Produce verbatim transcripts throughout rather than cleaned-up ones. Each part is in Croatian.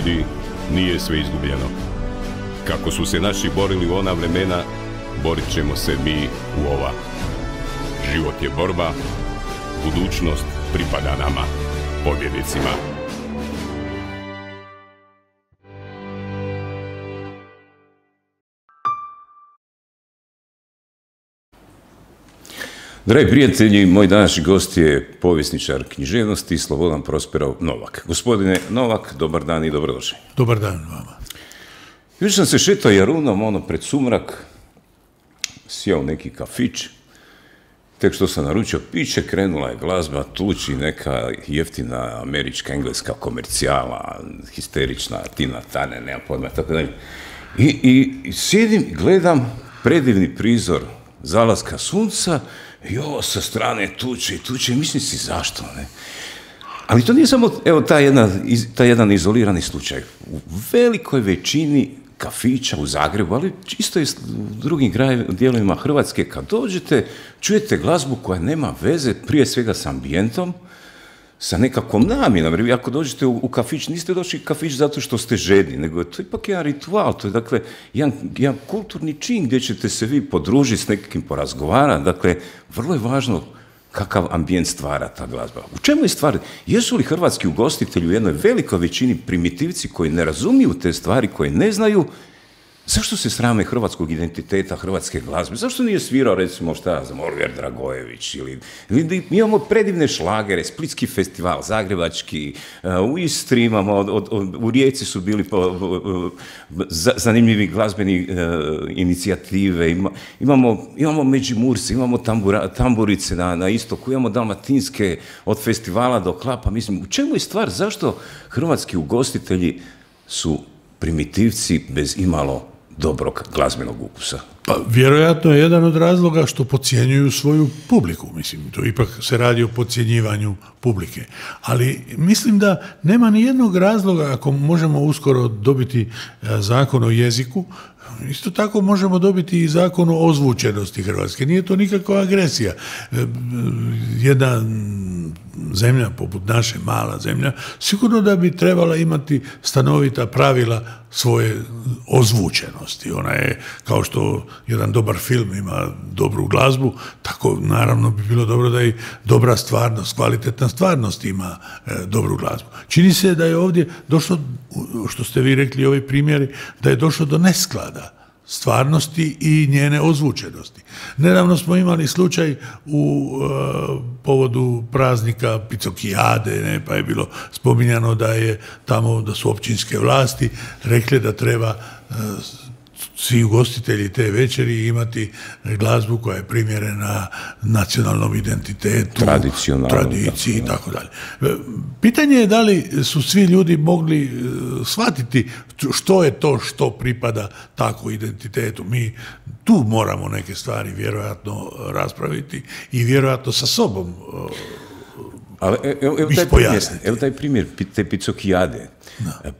ljudi, nije sve izgubljeno. Kako su se naši borili u ona vremena, borit ćemo se mi u ova. Život je borba, budućnost pripada nama, pobjednicima. Dragi prijatelji, moj današnji gost je povjesničar književnosti Slobodan Prosperov Novak. Gospodine Novak, dobar dan i dobrodošli. Dobar dan vama. Još sam se šetao Jarunom, ono pred sumrak, sjeo neki kafić, tek što sam naručio piće, krenula je glazba, tuči neka jeftina američka, engleska komercijala, histerična, Tina Turner, nema pojma, tako dalje. I, i, i sjedim i gledam predivni prizor zalaska sunca i ovo sa strane tuče i tuče, mislim si zašto, ne? Ali to nije samo, evo, taj jedan, taj jedan izolirani slučaj. U velikoj većini kafića u Zagrebu, ali isto i u drugim dijelovima Hrvatske, kad dođete, čujete glazbu koja nema veze prije svega s ambijentom, sa nekakvom namjenom. Jer ako dođete u, u kafić, niste došli u kafić zato što ste žedni, nego je to ipak jedan ritual, to je dakle jedan, jedan kulturni čin gdje ćete se vi podružiti s nekim porazgovarati. Dakle, vrlo je važno kakav ambijent stvara ta glazba. U čemu je stvar? Jesu li hrvatski ugostitelji u jednoj velikoj većini primitivci koji ne razumiju te stvari, koji ne znaju? Zašto se srame hrvatskog identiteta, hrvatske glazbe? Zašto nije svirao, recimo, šta ja znam, Oliver Dragojević? Ili, ili mi imamo predivne šlagere, Splitski festival, Zagrebački, uh, u Istri imamo, od, od, od, u Rijeci su bili po, uh, zanimljivi glazbeni uh, inicijative, Ima, imamo, imamo Međimurce, imamo tambura, tamburice na, na istoku, imamo dalmatinske od festivala do klapa. Mislim, u čemu je stvar? Zašto hrvatski ugostitelji su primitivci bez imalo dobrog glazbenog ukusa? Pa, vjerojatno je jedan od razloga što podcjenjuju svoju publiku. Mislim, to ipak se radi o podcjenjivanju publike. Ali mislim da nema ni jednog razloga, ako možemo uskoro dobiti zakon o jeziku, isto tako možemo dobiti i zakon o ozvučenosti Hrvatske. Nije to nikakva agresija. Jedna zemlja, poput naše, mala zemlja, sigurno da bi trebala imati stanovita pravila svoje ozvučenosti. Ona je, kao što jedan dobar film ima dobru glazbu, tako naravno bi bilo dobro da i dobra stvarnost, kvalitetna stvarnost ima e, dobru glazbu. Čini se da je ovdje došlo, što ste vi rekli, ovi primjeri, da je došlo do nesklada stvarnosti i njene ozvučenosti. Nedavno smo imali slučaj u uh, povodu praznika Picokijade, ne, pa je bilo spominjano da je tamo, da su općinske vlasti rekle da treba uh, svi ugostitelji te večeri imati glazbu koja je primjerena nacionalnom identitetu, tradiciji i tako dalje. Pitanje je da li su svi ljudi mogli shvatiti što je to što pripada tako identitetu. Mi tu moramo neke stvari vjerojatno raspraviti i vjerojatno sa sobom Ali evo, evo, taj primjer, evo taj primjer te Picokijade.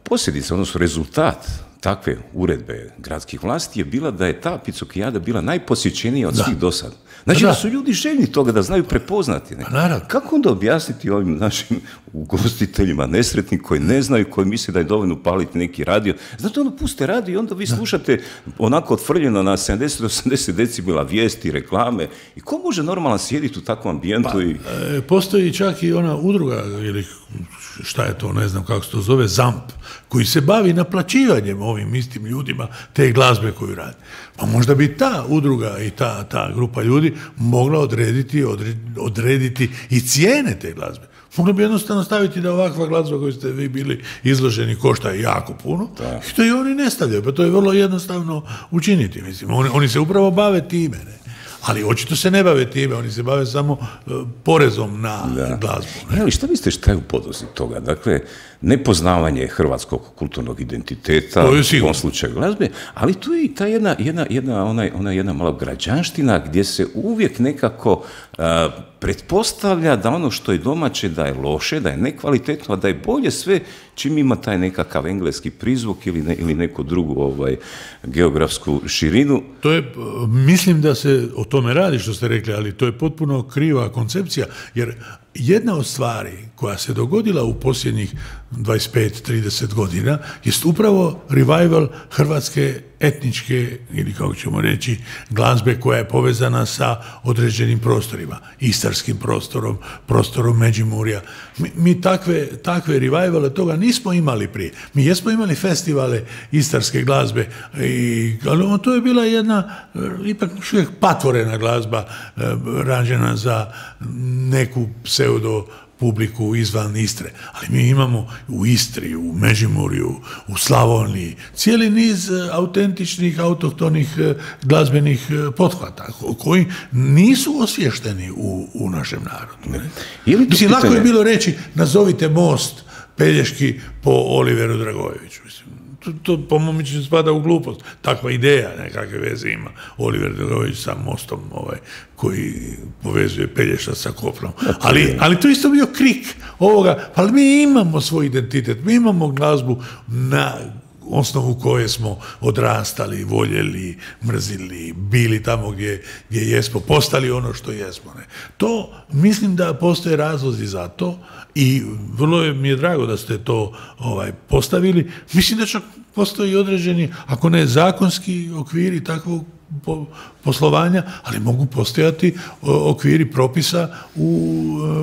Posljedica, odnosno rezultat takve uredbe gradskih vlasti je bila da je ta Picokijada bila najposjećenija od da. svih do sad. Znači da. da su ljudi željni toga, da znaju prepoznati. Ne? Kako onda objasniti ovim našim ugostiteljima nesretni koji ne znaju, koji misle da je dovoljno upaliti neki radio? Znate, onda puste radio i onda vi da. slušate onako otvrljeno na sedamdeset do osamdeset decibela vijesti, reklame. I ko može normalno sjediti u takvom ambijentu? Pa, i... e, postoji čak i ona udruga, ili šta je to, ne znam kako se to zove, ZAMP, koji se bavi naplaćivanjem ovim istim ljudima te glazbe koju radi. Pa možda bi ta udruga i ta, ta grupa ljudi mogla odrediti, odrediti, odrediti i cijene te glazbe. Mogla bi jednostavno staviti da ovakva glazba koju ste vi bili izloženi košta jako puno, da. I to i oni ne stavljaju, pa to je vrlo jednostavno učiniti. Mislim. Oni, oni se upravo bave time, ne? Ali očito se ne bave time, oni se bave samo uh, porezom na da. glazbu. Ne? Ali šta mislite šta je u podlozi toga? Dakle, nepoznavanje hrvatskog kulturnog identiteta, u ovom slučaju glazbe, ali tu je i ta jedna, jedna, jedna, ona, ona jedna malo građanština gdje se uvijek nekako uh, pretpostavlja da ono što je domaće da je loše, da je nekvalitetno, a da je bolje sve čim ima taj nekakav engleski prizvuk ili, ne, ili neku drugu ovaj, geografsku širinu. To je, mislim da se o tome radi što ste rekli, ali to je potpuno kriva koncepcija, jer jedna od stvari koja se dogodila u posljednjih dvadeset pet trideset godina jest upravo revival hrvatske etničke, ili kako ćemo reći, glazbe koja je povezana sa određenim prostorima, istarskim prostorom, prostorom Međimurja. Mi, mi takve, takve revivale toga nismo imali prije. Mi jesmo imali festivale istarske glazbe, i, ali to je bila jedna ipak uvijek patvorena glazba rađena za neku pseudo publiku izvan Istre. Ali mi imamo u Istri, u Međimurju, u Slavoniji cijeli niz autentičnih, autohtonih glazbenih pothvata koji nisu osvješteni u, u našem narodu. Ne? Mislim, lako je bilo reći, nazovite most Pelješki po Oliveru Dragojeviću. Mislim, to, to po mom mišljenju spada u glupost. Takva ideja nekakve veze ima Oliver Dragojević sa mostom ovaj, koji povezuje Pelješac sa kopnom. Ali, ali to isto bio krik ovoga, ali mi imamo svoj identitet, mi imamo glazbu na osnovu koje smo odrastali, voljeli, mrzili, bili tamo gdje, gdje jesmo, postali ono što jesmo. Ne. To, mislim da postoje razlozi za to i vrlo je, mi je drago da ste to ovaj, postavili. Mislim da čak postoji određeni, ako ne zakonski okviri takvog po, poslovanja, ali mogu postojati okviri propisa u,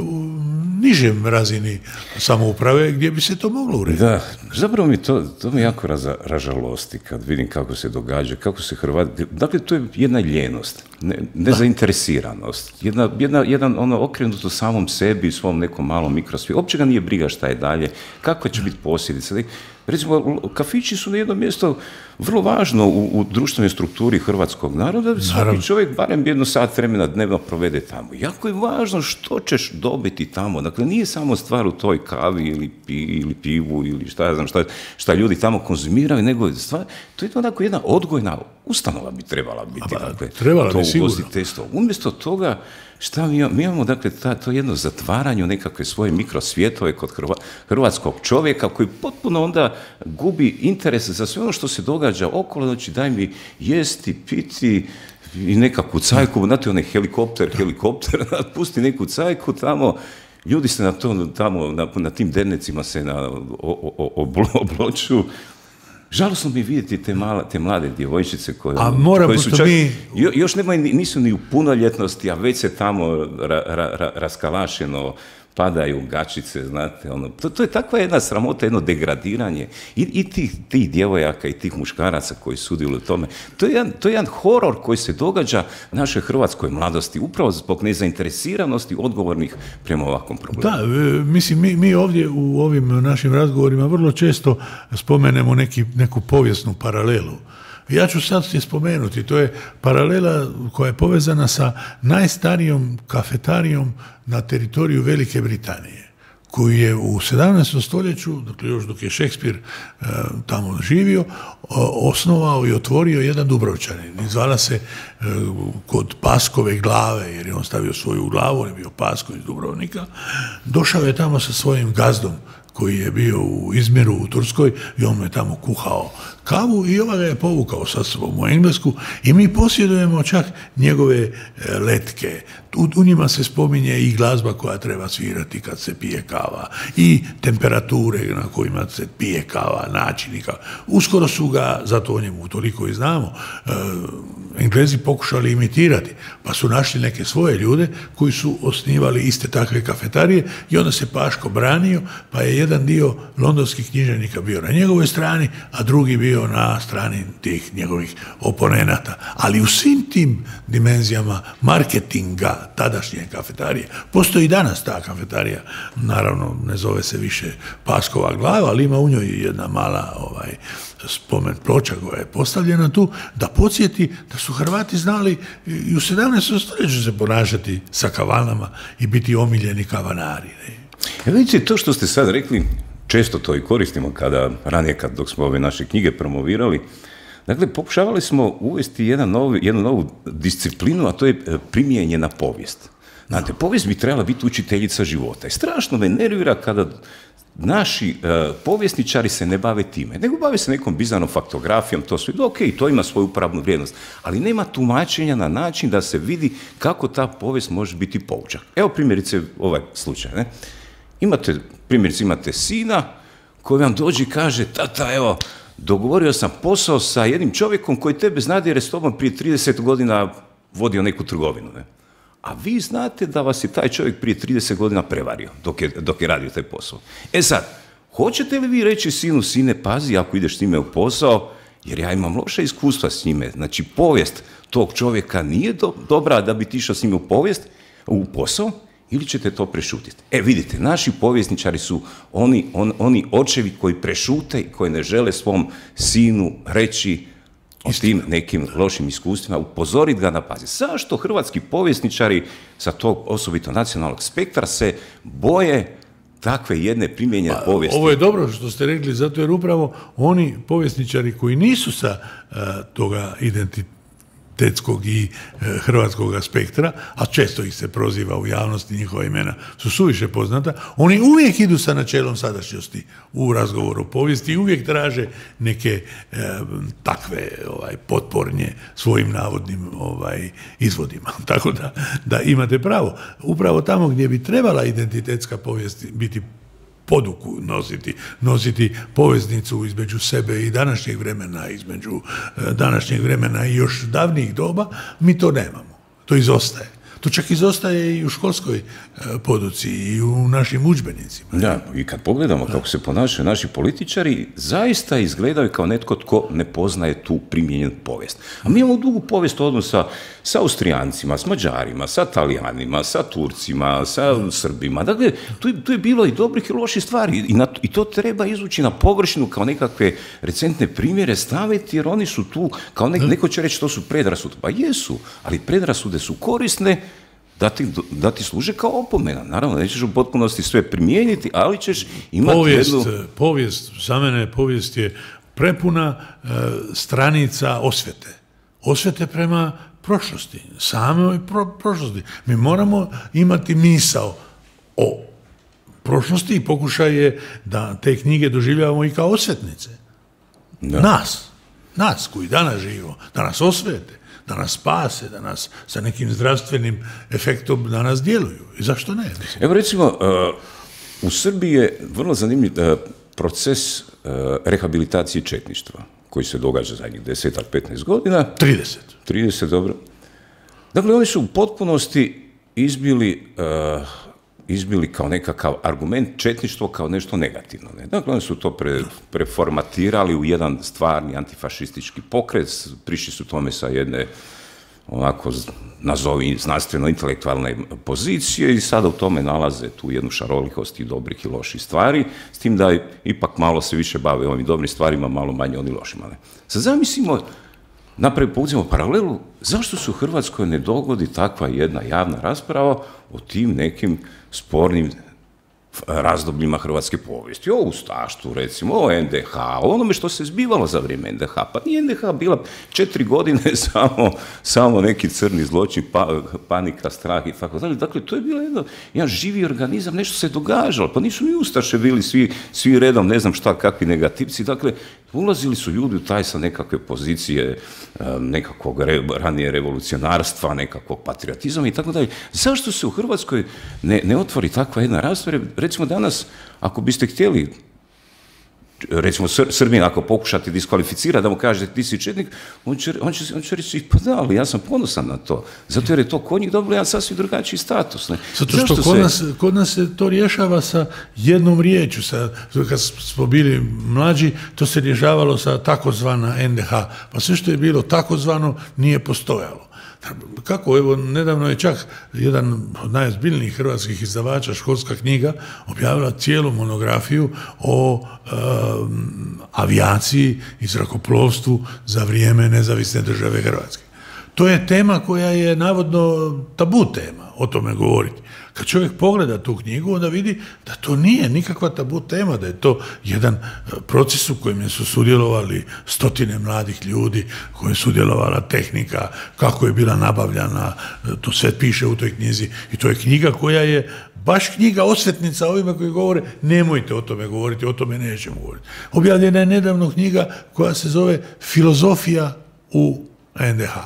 u nižem razini samouprave gdje bi se to moglo urediti. Da, zapravo mi to, to me jako raza, ražalosti kad vidim kako se događa, kako se Hrvati... Dakle, to je jedna ljenost, ne, nezainteresiranost, jedna, jedna, jedan ono okrenut u samom sebi i svom nekom malom mikrosvijetu. Uopće ga nije briga šta je dalje, kako će biti posljedica. Recimo, kafići su na jedno mjesto vrlo važno u, u društvenoj strukturi hrvatskog naroda, da svaki čovjek barem jedno sat vremena dnevno provede tamo. Jako je važno što ćeš dobiti tamo. Dakle, nije samo stvar u toj kavi ili, pi, ili pivu ili šta ja znam šta, šta ljudi tamo konzumiraju, nego stvar, to je onako jedna odgojna ustanova bi trebala biti. Aba, dakle, trebala to bi sigurno. Umjesto toga, šta mi imamo? Mi imamo, dakle, ta, to jedno zatvaranje u nekakve svoje mikrosvjetove kod hrva, hrvatskog čovjeka koji potpuno onda gubi interes za sve ono što se događa okolo, znači daj mi jesti, piti i nekakvu cajku, znate onaj helikopter, helikopter, pusti neku cajku tamo, ljudi se na to, tamo, na, na tim dernecima se na, o, o, o, obloču. Žalosno mi vidjeti te, mala, te mlade djevojčice koje, koje su čak, mi... još nemaju, nisu ni u punoljetnosti, a već se tamo ra, ra, ra, raskalašeno padaju gačice, znate, ono, to, to je takva jedna sramota, jedno degradiranje i, i tih, tih djevojaka i tih muškaraca koji sudjeluju u tome. To je, jedan, to je jedan horor koji se događa našoj hrvatskoj mladosti, upravo zbog nezainteresiranosti odgovornih prema ovakvom problemu. Da, mislim, mi, mi ovdje u ovim našim razgovorima vrlo često spomenemo neki, neku povijesnu paralelu. Ja ću sad je spomenuti, to je paralela koja je povezana sa najstarijom kafetarijom na teritoriju Velike Britanije, koju je u sedamnaestom stoljeću, dakle još dok je Šekspir e, tamo živio, o, osnovao i otvorio jedan Dubrovčanin. Zvala se e, kod Paskove glave, jer je on stavio svoju glavu, on je bio Pasko iz Dubrovnika. Došao je tamo sa svojim gazdom, koji je bio u Izmiru u Turskoj i on me tamo kuhao kavu i ova ga je povukao sa sobom u Englesku i mi posjedujemo čak njegove letke. U, u njima se spominje i glazba koja treba svirati kad se pije kava i temperature na kojima se pije kava, načini kava. Uskoro su ga, zato o njemu toliko i znamo, e, Englezi pokušali imitirati, pa su našli neke svoje ljude koji su osnivali iste takve kafetarije i onda se Paško branio, pa je jedan dio londonskih književnika bio na njegovoj strani, a drugi bio na strani tih njegovih oponenata. Ali u svim tim dimenzijama marketinga tadašnje kafetarije, postoji i danas ta kafetarija, naravno ne zove se više Paskova glava, ali ima u njoj jedna mala ovaj, spomen ploča koja je postavljena tu, da podsjeti da su Hrvati znali i u sedamnaestom stoljeću se ponašati sa kavanama i biti omiljeni kavanari. Ne? Ja, vidite, to što ste sad rekli, često to i koristimo kada, ranije kad dok smo ove naše knjige promovirali, dakle, pokušavali smo uvesti jedan novi, jednu novu disciplinu, a to je primijenjena povijest. Znate, povijest bi trebala biti učiteljica života. I strašno me nervira kada naši uh, povjesničari se ne bave time, nego bave se nekom bizarnom faktografijom, to sve, ok, to ima svoju upravnu vrijednost, ali nema tumačenja na način da se vidi kako ta povijest može biti poučak. Evo primjerice ovaj slučaj, ne? Imate, primjerice imate sina koji vam dođe i kaže, tata, evo, dogovorio sam posao sa jednim čovjekom koji tebe zna jer je s tobom prije trideset godina vodio neku trgovinu, ne? A vi znate da vas je taj čovjek prije trideset godina prevario dok je, dok je radio taj posao. E sad, hoćete li vi reći sinu, sine, pazi ako ideš s njime u posao, jer ja imam loše iskustva s njime, znači povijest tog čovjeka nije do, dobra da bi ti išao s njime u povijest, u posao, ili ćete to prešutiti? E vidite, naši povjesničari su oni, on, oni očevi koji prešute i koji ne žele svom sinu reći o tim nekim lošim iskustvima, upozoriti ga na pazi. Zašto hrvatski povjesničari sa tog osobito nacionalnog spektra se boje takve jedne primijenjene pa, povijesti? Ovo je dobro što ste rekli, zato jer upravo oni povjesničari koji nisu sa uh, toga identitetskog i uh, hrvatskog spektra, a često ih se proziva u javnosti, njihova imena su suviše poznata, oni uvijek idu sa načelom sadašnjosti u razgovoru o povijesti i uvijek traže neke uh, takve ovaj, potpornje svojim navodnim ovaj, izvodima. Tako da, da imate pravo. Upravo tamo gdje bi trebala identitetska povijest biti poduku nositi, nositi poveznicu između sebe i današnjeg vremena, između uh, današnjeg vremena i još davnijih doba, mi to nemamo. To izostaje. To čak izostaje i u školskoj uh, poduci i u našim udžbenicima. Da, i kad pogledamo da. kako se ponašaju naši političari, zaista izgledaju kao netko tko ne poznaje tu primijenjenu povijest. A mi imamo dugu povijest odnosa sa Austrijancima, s Mađarima, sa Talijanima, sa Turcima, sa Srbima. Dakle, tu, tu je bilo i dobrih i loših stvari i, na, i to treba izvući na površinu kao nekakve recentne primjere staviti, jer oni su tu, kao nek, neko će reći to su predrasude. Pa jesu, ali predrasude su korisne da ti, da ti služe kao opomena. Naravno, nećeš u potpunosti sve primijeniti, ali ćeš imati povijest, jednu... Povijest, za mene povijest je prepuna uh, stranica osvete. Osvete prema prošlosti, samoj pro, prošlosti. Mi moramo imati misao o prošlosti i pokušaj je da te knjige doživljavamo i kao osvetnice. Da. Nas, nas koji danas živimo, da nas osvete, da nas spase, da nas sa nekim zdravstvenim efektom da nas djeluju. I zašto ne? Mislim. Evo recimo, uh, u Srbiji je vrlo zanimljiv uh, proces uh, rehabilitacije četništva koji se događa zadnjih deset, petnaest godina. trideset. trideset, dobro. Dakle, oni su u potpunosti izbili, uh, izbili kao nekakav argument četništvo kao nešto negativno. Ne? Dakle, oni su to pre, preformatirali u jedan stvarni antifašistički pokret, prišli su tome sa jedne onako, nazovi znanstveno-intelektualne pozicije i sada u tome nalaze tu jednu šarolikost i dobrih i loših stvari, s tim da ipak malo se više bave ovim dobrim stvarima, malo manje oni lošima. Ne? Sad zamislimo, napravi povucimo paralelu, zašto se u Hrvatskoj ne dogodi takva jedna javna rasprava o tim nekim spornim razdobljima hrvatske povijesti, o ustaštvu, recimo, o en de ha, o onome što se zbivalo za vrijeme en de ha. Pa nije en de ha bila četiri godine samo, samo neki crni zločin, pa, panika, strah i tako dalje. Dakle, to je bilo jedno, jedan živi organizam, nešto se događalo. Pa nisu ni ustaše bili svi, svi redom, ne znam šta, kakvi negativci. Dakle, ulazili su ljudi u taj sa nekakve pozicije nekakvog re, ranije revolucionarstva, nekakvog patriotizma i tako dalje. Zašto se u Hrvatskoj ne, ne otvori takva jedna rasprava? Recimo danas, ako biste htjeli, recimo Srbin, ako pokušate diskvalificirati, da mu kažete ti si četnik, on će, on će, on će reći, pa da, ali ja sam ponosan na to. Zato jer je to kod njih dobilo jedan sasvim drugačiji status. Ne? Zato što kod, se... nas, kod nas se to rješava sa jednom riječju. Sa, kad smo bili mlađi, to se rješavalo sa takozvana en de ha. Pa sve što je bilo takozvano nije postojalo. Kako, evo, nedavno je čak jedan od najozbiljnijih hrvatskih izdavača, Školska knjiga, objavila cijelu monografiju o e, avijaciji i zrakoplovstvu za vrijeme nezavisne države Hrvatske. To je tema koja je navodno tabu tema, o tome govoriti. Kad čovjek pogleda tu knjigu, onda vidi da to nije nikakva tabu tema, da je to jedan proces u kojem su sudjelovali stotine mladih ljudi, koje je sudjelovala tehnika, kako je bila nabavljana, to sve piše u toj knjizi i to je knjiga koja je baš knjiga osvetnica ovima koji govore nemojte o tome govoriti, o tome nećemo govoriti. Objavljena je nedavno knjiga koja se zove Filozofija u en de ha.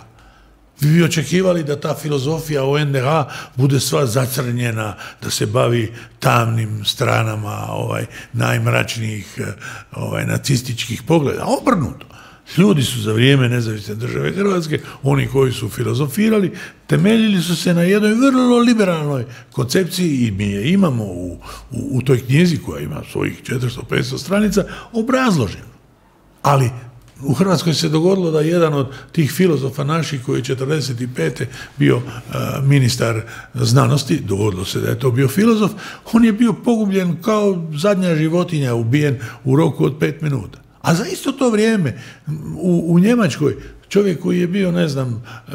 Vi bi očekivali da ta filozofija o en de ha bude sva zacrnjena, da se bavi tamnim stranama ovaj, najmračnijih ovaj, nacističkih pogleda. Obrnuto. Ljudi su za vrijeme nezavisne države Hrvatske, oni koji su filozofirali, temeljili su se na jednoj vrlo liberalnoj koncepciji i mi je imamo u, u, u toj knjizi koja ima svojih četiristo do petsto stranica obrazloženo. Ali u Hrvatskoj se dogodilo da jedan od tih filozofa naših koji je četrdeset pete bio uh, ministar znanosti, dogodilo se da je to bio filozof, on je bio pogubljen kao zadnja životinja, ubijen u roku od pet minuta. A za isto to vrijeme u, u Njemačkoj čovjek koji je bio, ne znam, uh,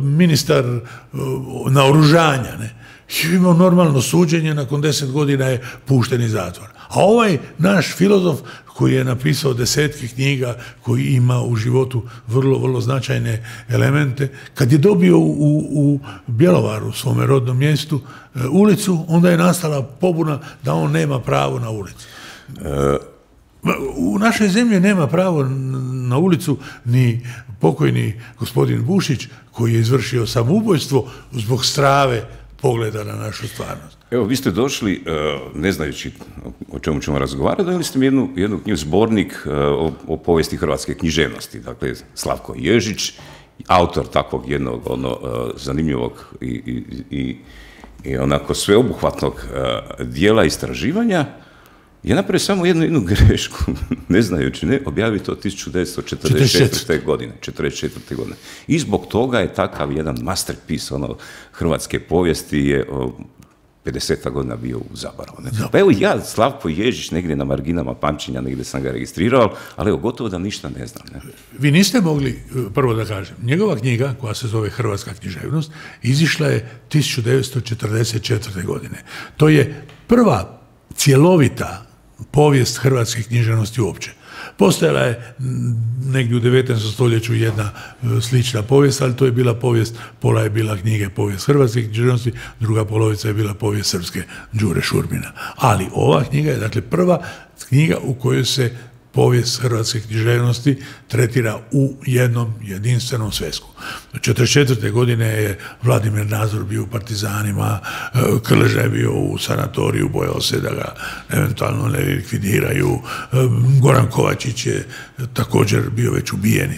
ministar uh, naoružanja, ne, je imao normalno suđenje, nakon deset godina je pušten iz zatvora. A ovaj naš filozof koji je napisao desetke knjiga, koji ima u životu vrlo, vrlo značajne elemente, kad je dobio u, u Bjelovaru, svome rodnom mjestu, ulicu, onda je nastala pobuna da on nema pravo na ulicu. E... U našoj zemlji nema pravo na ulicu ni pokojni gospodin Bušić, koji je izvršio samoubojstvo zbog strave pogleda na našu stvarnost. Evo, vi ste došli, ne znajući o čemu ćemo razgovarati, dali ste mi jednu, jednu knjigu, zbornik o, o povijesti hrvatske književnosti. Dakle, Slavko Ježić, autor takvog jednog ono, zanimljivog i, i, i, i onako sveobuhvatnog dijela istraživanja, je napravio samo jednu, jednu grešku, ne znajući, ne, objavio to tisuću devetsto četrdeset četvrte. godine, četrdeset četvrte. godine. I zbog toga je takav jedan masterpiece ono, hrvatske povijesti je o, pedeseta godina bio u zaboravu. Pa evo ja, Slavko Ježić, negdje na marginama pamćenja, negdje sam ga registrirao, ali evo, gotovo da ništa ne znam. Ne? Vi niste mogli, prvo da kažem, njegova knjiga, koja se zove Hrvatska književnost, izišla je tisuću devetsto četrdeset četvrte. godine. To je prva cjelovita povijest hrvatske književnosti uopće. Postojala je negdje u devetnaestom stoljeću jedna slična povijest, ali to je bila povijest, pola je bila knjige povijest hrvatske književnosti, druga polovica je bila povijest srpske Đure Šurbina. Ali ova knjiga je dakle prva knjiga u kojoj se povijest hrvatske književnosti tretira u jednom jedinstvenom svesku. četrdeset četvrte. godine je Vladimir Nazor bio u partizanima, Krleža je bio u sanatoriju, bojao se da ga eventualno ne likvidiraju, Goran Kovačić je također bio već ubijen.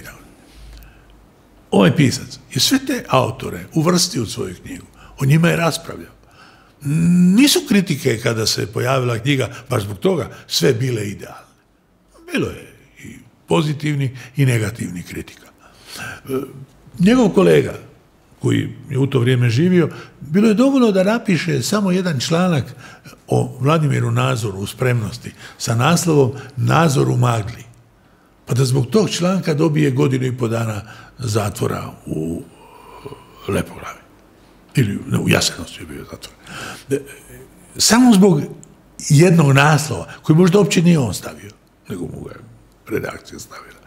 Ovaj pisac je sve te autore uvrstio u svoju knjigu, o njima je raspravljao. Nisu kritike kada se pojavila knjiga, baš zbog toga, sve bile idealne. Bilo je i pozitivni i negativni kritika. Njegov kolega, koji je u to vrijeme živio, bilo je dovoljno da napiše samo jedan članak o Vladimiru Nazoru u Spremnosti sa naslovom Nazor u magli. Pa da zbog tog članka dobije godinu i po dana zatvora u Lepoglavi. Ili ne, u Jasenovcu je bio zatvor. Samo zbog jednog naslova, koji možda uopće nije on stavio, nego mu ga je redakcija stavila.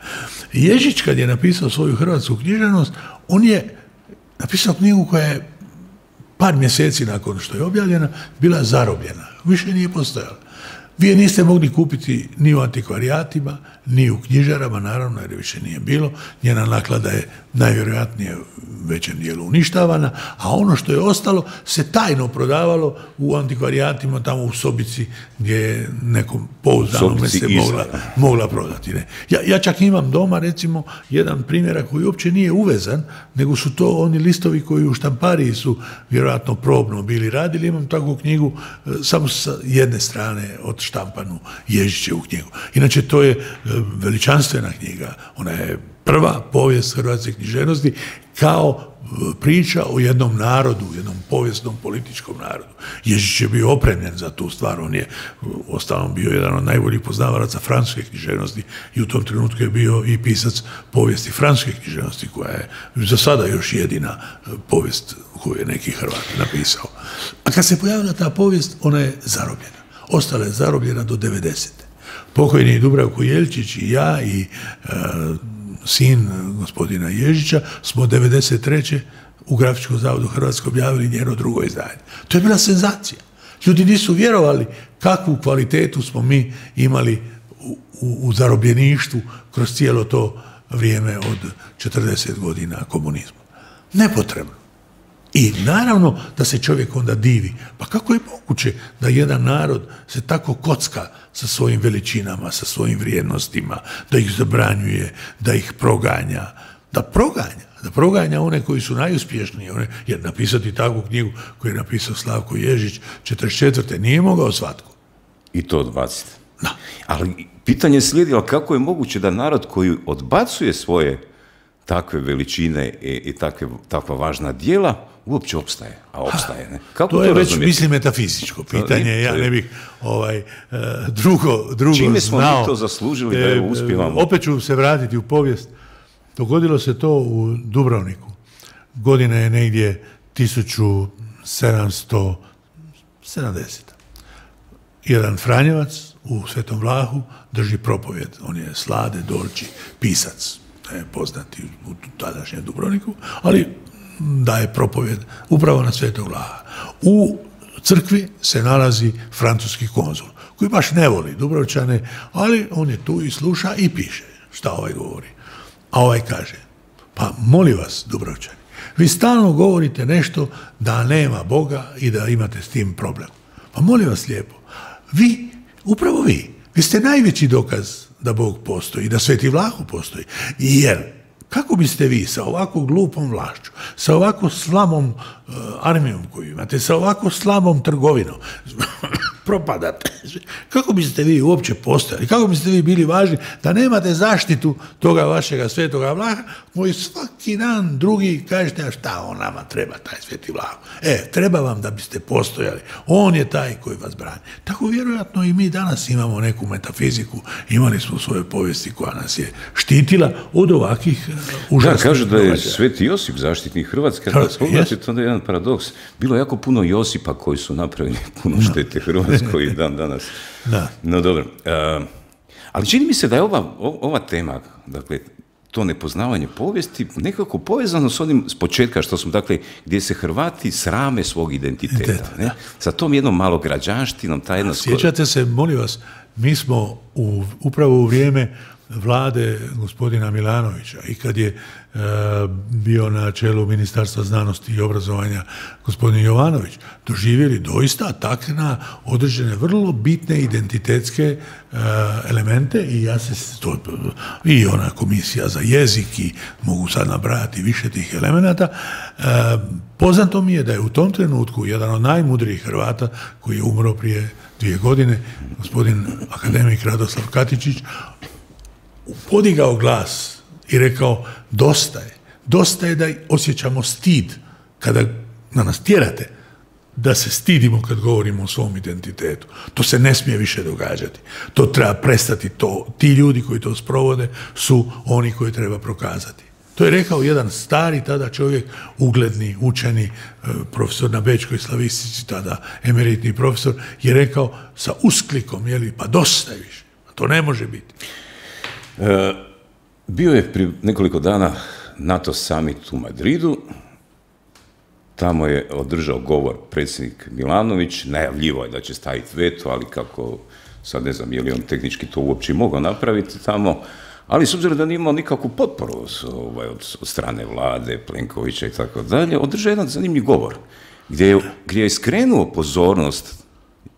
Ježić, kad je napisao svoju hrvatsku književnost, on je napisao knjigu koja je par mjeseci nakon što je objavljena bila zarobljena. Više nije postojala. Vi je niste mogli kupiti ni u antikvarijatima, ni u knjižarama, naravno, jer više nije bilo. Njena naklada je najvjerojatnije u većem dijelu uništavana, a ono što je ostalo se tajno prodavalo u antikvarijatima, tamo u sobici gdje je nekom pouzdanom se mogla, mogla prodati. Ne. Ja, ja čak imam doma, recimo, jedan primjerak koji uopće nije uvezan, nego su to oni listovi koji u štampariji su vjerojatno probno bili radili. Imam takvu knjigu samo sa jedne strane od štampanu Ježićevu knjigu. Inače, to je veličanstvena knjiga. Ona je prva povijest hrvatske književnosti kao priča o jednom narodu, jednom povijesnom političkom narodu. Ježić je bio opremljen za tu stvar, on je ostalom bio jedan od najboljih poznavalaca francuske književnosti i u tom trenutku je bio i pisac povijesti francuske književnosti, koja je za sada još jedina povijest koju je neki Hrvat napisao. A kad se pojavila ta povijest, ona je zarobljena. Ostala je zarobljena do devedesete. Pokojni Dubravko Jelčić i ja i e, sin gospodina Ježića smo devedeset treće u Grafičkom zavodu Hrvatske objavili njeno drugo izdanje. To je bila senzacija. Ljudi nisu vjerovali kakvu kvalitetu smo mi imali u, u, u zarobljeništvu kroz cijelo to vrijeme od četrdeset godina komunizma. Nepotrebno. I naravno da se čovjek onda divi. Pa kako je moguće da jedan narod se tako kocka sa svojim veličinama, sa svojim vrijednostima, da ih zabranjuje, da ih proganja, da proganja, da proganja one koji su najuspješniji, one, jer napisati takvu knjigu koju je napisao Slavko Ježić četrdeset četvrte nije mogao svatko. I to odbaciti. Da. Ali pitanje slijedi, ali kako je moguće da narod koji odbacuje svoje takve veličine i, i takve, takva važna djela uopće opstaje, a opstaje, ne? Kako to, to je već, razumjeti? mislim, metafizičko pitanje, to, ja ne bih ovaj, uh, drugo, drugo Čime smo znao. mi to zaslužili da je uspijevamo? Opet ću se vratiti u povijest. Dogodilo se to u Dubrovniku. Godina je negdje tisuću sedamsto sedamdeseta. Jedan Franjevac u Svetom Vlahu drži propovjed. On je Slade Dolči, pisac, je poznati u tadašnjem Dubrovniku, ali daje propovjed upravo na Svetog Vlaha. U crkvi se nalazi francuski konzul, koji baš ne voli Dubrovčane, ali on je tu i sluša i piše šta ovaj govori. A ovaj kaže, pa molim vas, Dubrovčani, vi stalno govorite nešto da nema Boga i da imate s tim problem. Pa molim vas lijepo, vi, upravo vi, vi ste najveći dokaz da Bog postoji, da Sveti Vlahu postoji. Jer kako biste vi sa ovako glupom vlašću, sa ovako slabom uh, armijom koju imate, sa ovako slabom trgovinom, propadate, kako biste vi uopće postojali, kako biste vi bili važni da nemate zaštitu toga vašega Svetoga Vlaha, koji svaki dan drugi kažete, a šta on nama treba, taj Sveti Vlah. E, treba vam da biste postojali. On je taj koji vas brani. Tako vjerojatno i mi danas imamo neku metafiziku, imali smo u svojoj povijesti koja nas je štitila od ovakvih užasnih. Da, kažu da je događaja. Sveti Josip zaštitnik Hrvatske, kad spogledate, to je jedan paradoks. Bilo je jako puno Josipa koji su napravili puno štete Hrvatskoj i dan danas. Da. No dobro. Uh, ali čini mi se da je ova, ova tema, dakle, to nepoznavanje povijesti, nekako povezano s onim s početka što smo, dakle, gdje se Hrvati srame svog identiteta. Identitet, ne? Sa tom jednom malograđanštinom, ta jedna... Sjećate se, molim vas, mi smo u, upravo u vrijeme vlade gospodina Milanovića i kad je e, bio na čelu Ministarstva znanosti i obrazovanja gospodin Jovanović, doživjeli doista atak na određene vrlo bitne identitetske e, elemente i ja se to, i ona komisija za jezik i mogu sad nabrajati više tih elemenata. E, poznato mi je da je u tom trenutku jedan od najmudrijih Hrvata koji je umro prije dvije godine, gospodin akademik Radoslav Katičić, podigao glas i rekao, dosta je, dosta je da osjećamo stid kada na nas tjerate da se stidimo kad govorimo o svom identitetu. To se ne smije više događati. To treba prestati. To, ti ljudi koji to sprovode su oni koji treba prokazati. To je rekao jedan stari tada čovjek, ugledni, učeni, profesor na Bečkoj slavistici, tada emeritni profesor, je rekao sa usklikom, jeli, pa dosta je više. To ne može biti. E, bio je prije nekoliko dana NATO summit u Madridu, tamo je održao govor predsjednik Milanović, najavljivo je da će staviti veto, ali kako, sad ne znam je li on tehnički to uopće mogao napraviti tamo, ali s obzirom da nije imao nikakvu potporu ovaj, od, od strane vlade, Plenkovića i tako dalje, održao jedan zanimljiv govor, gdje je, gdje je skrenuo pozornost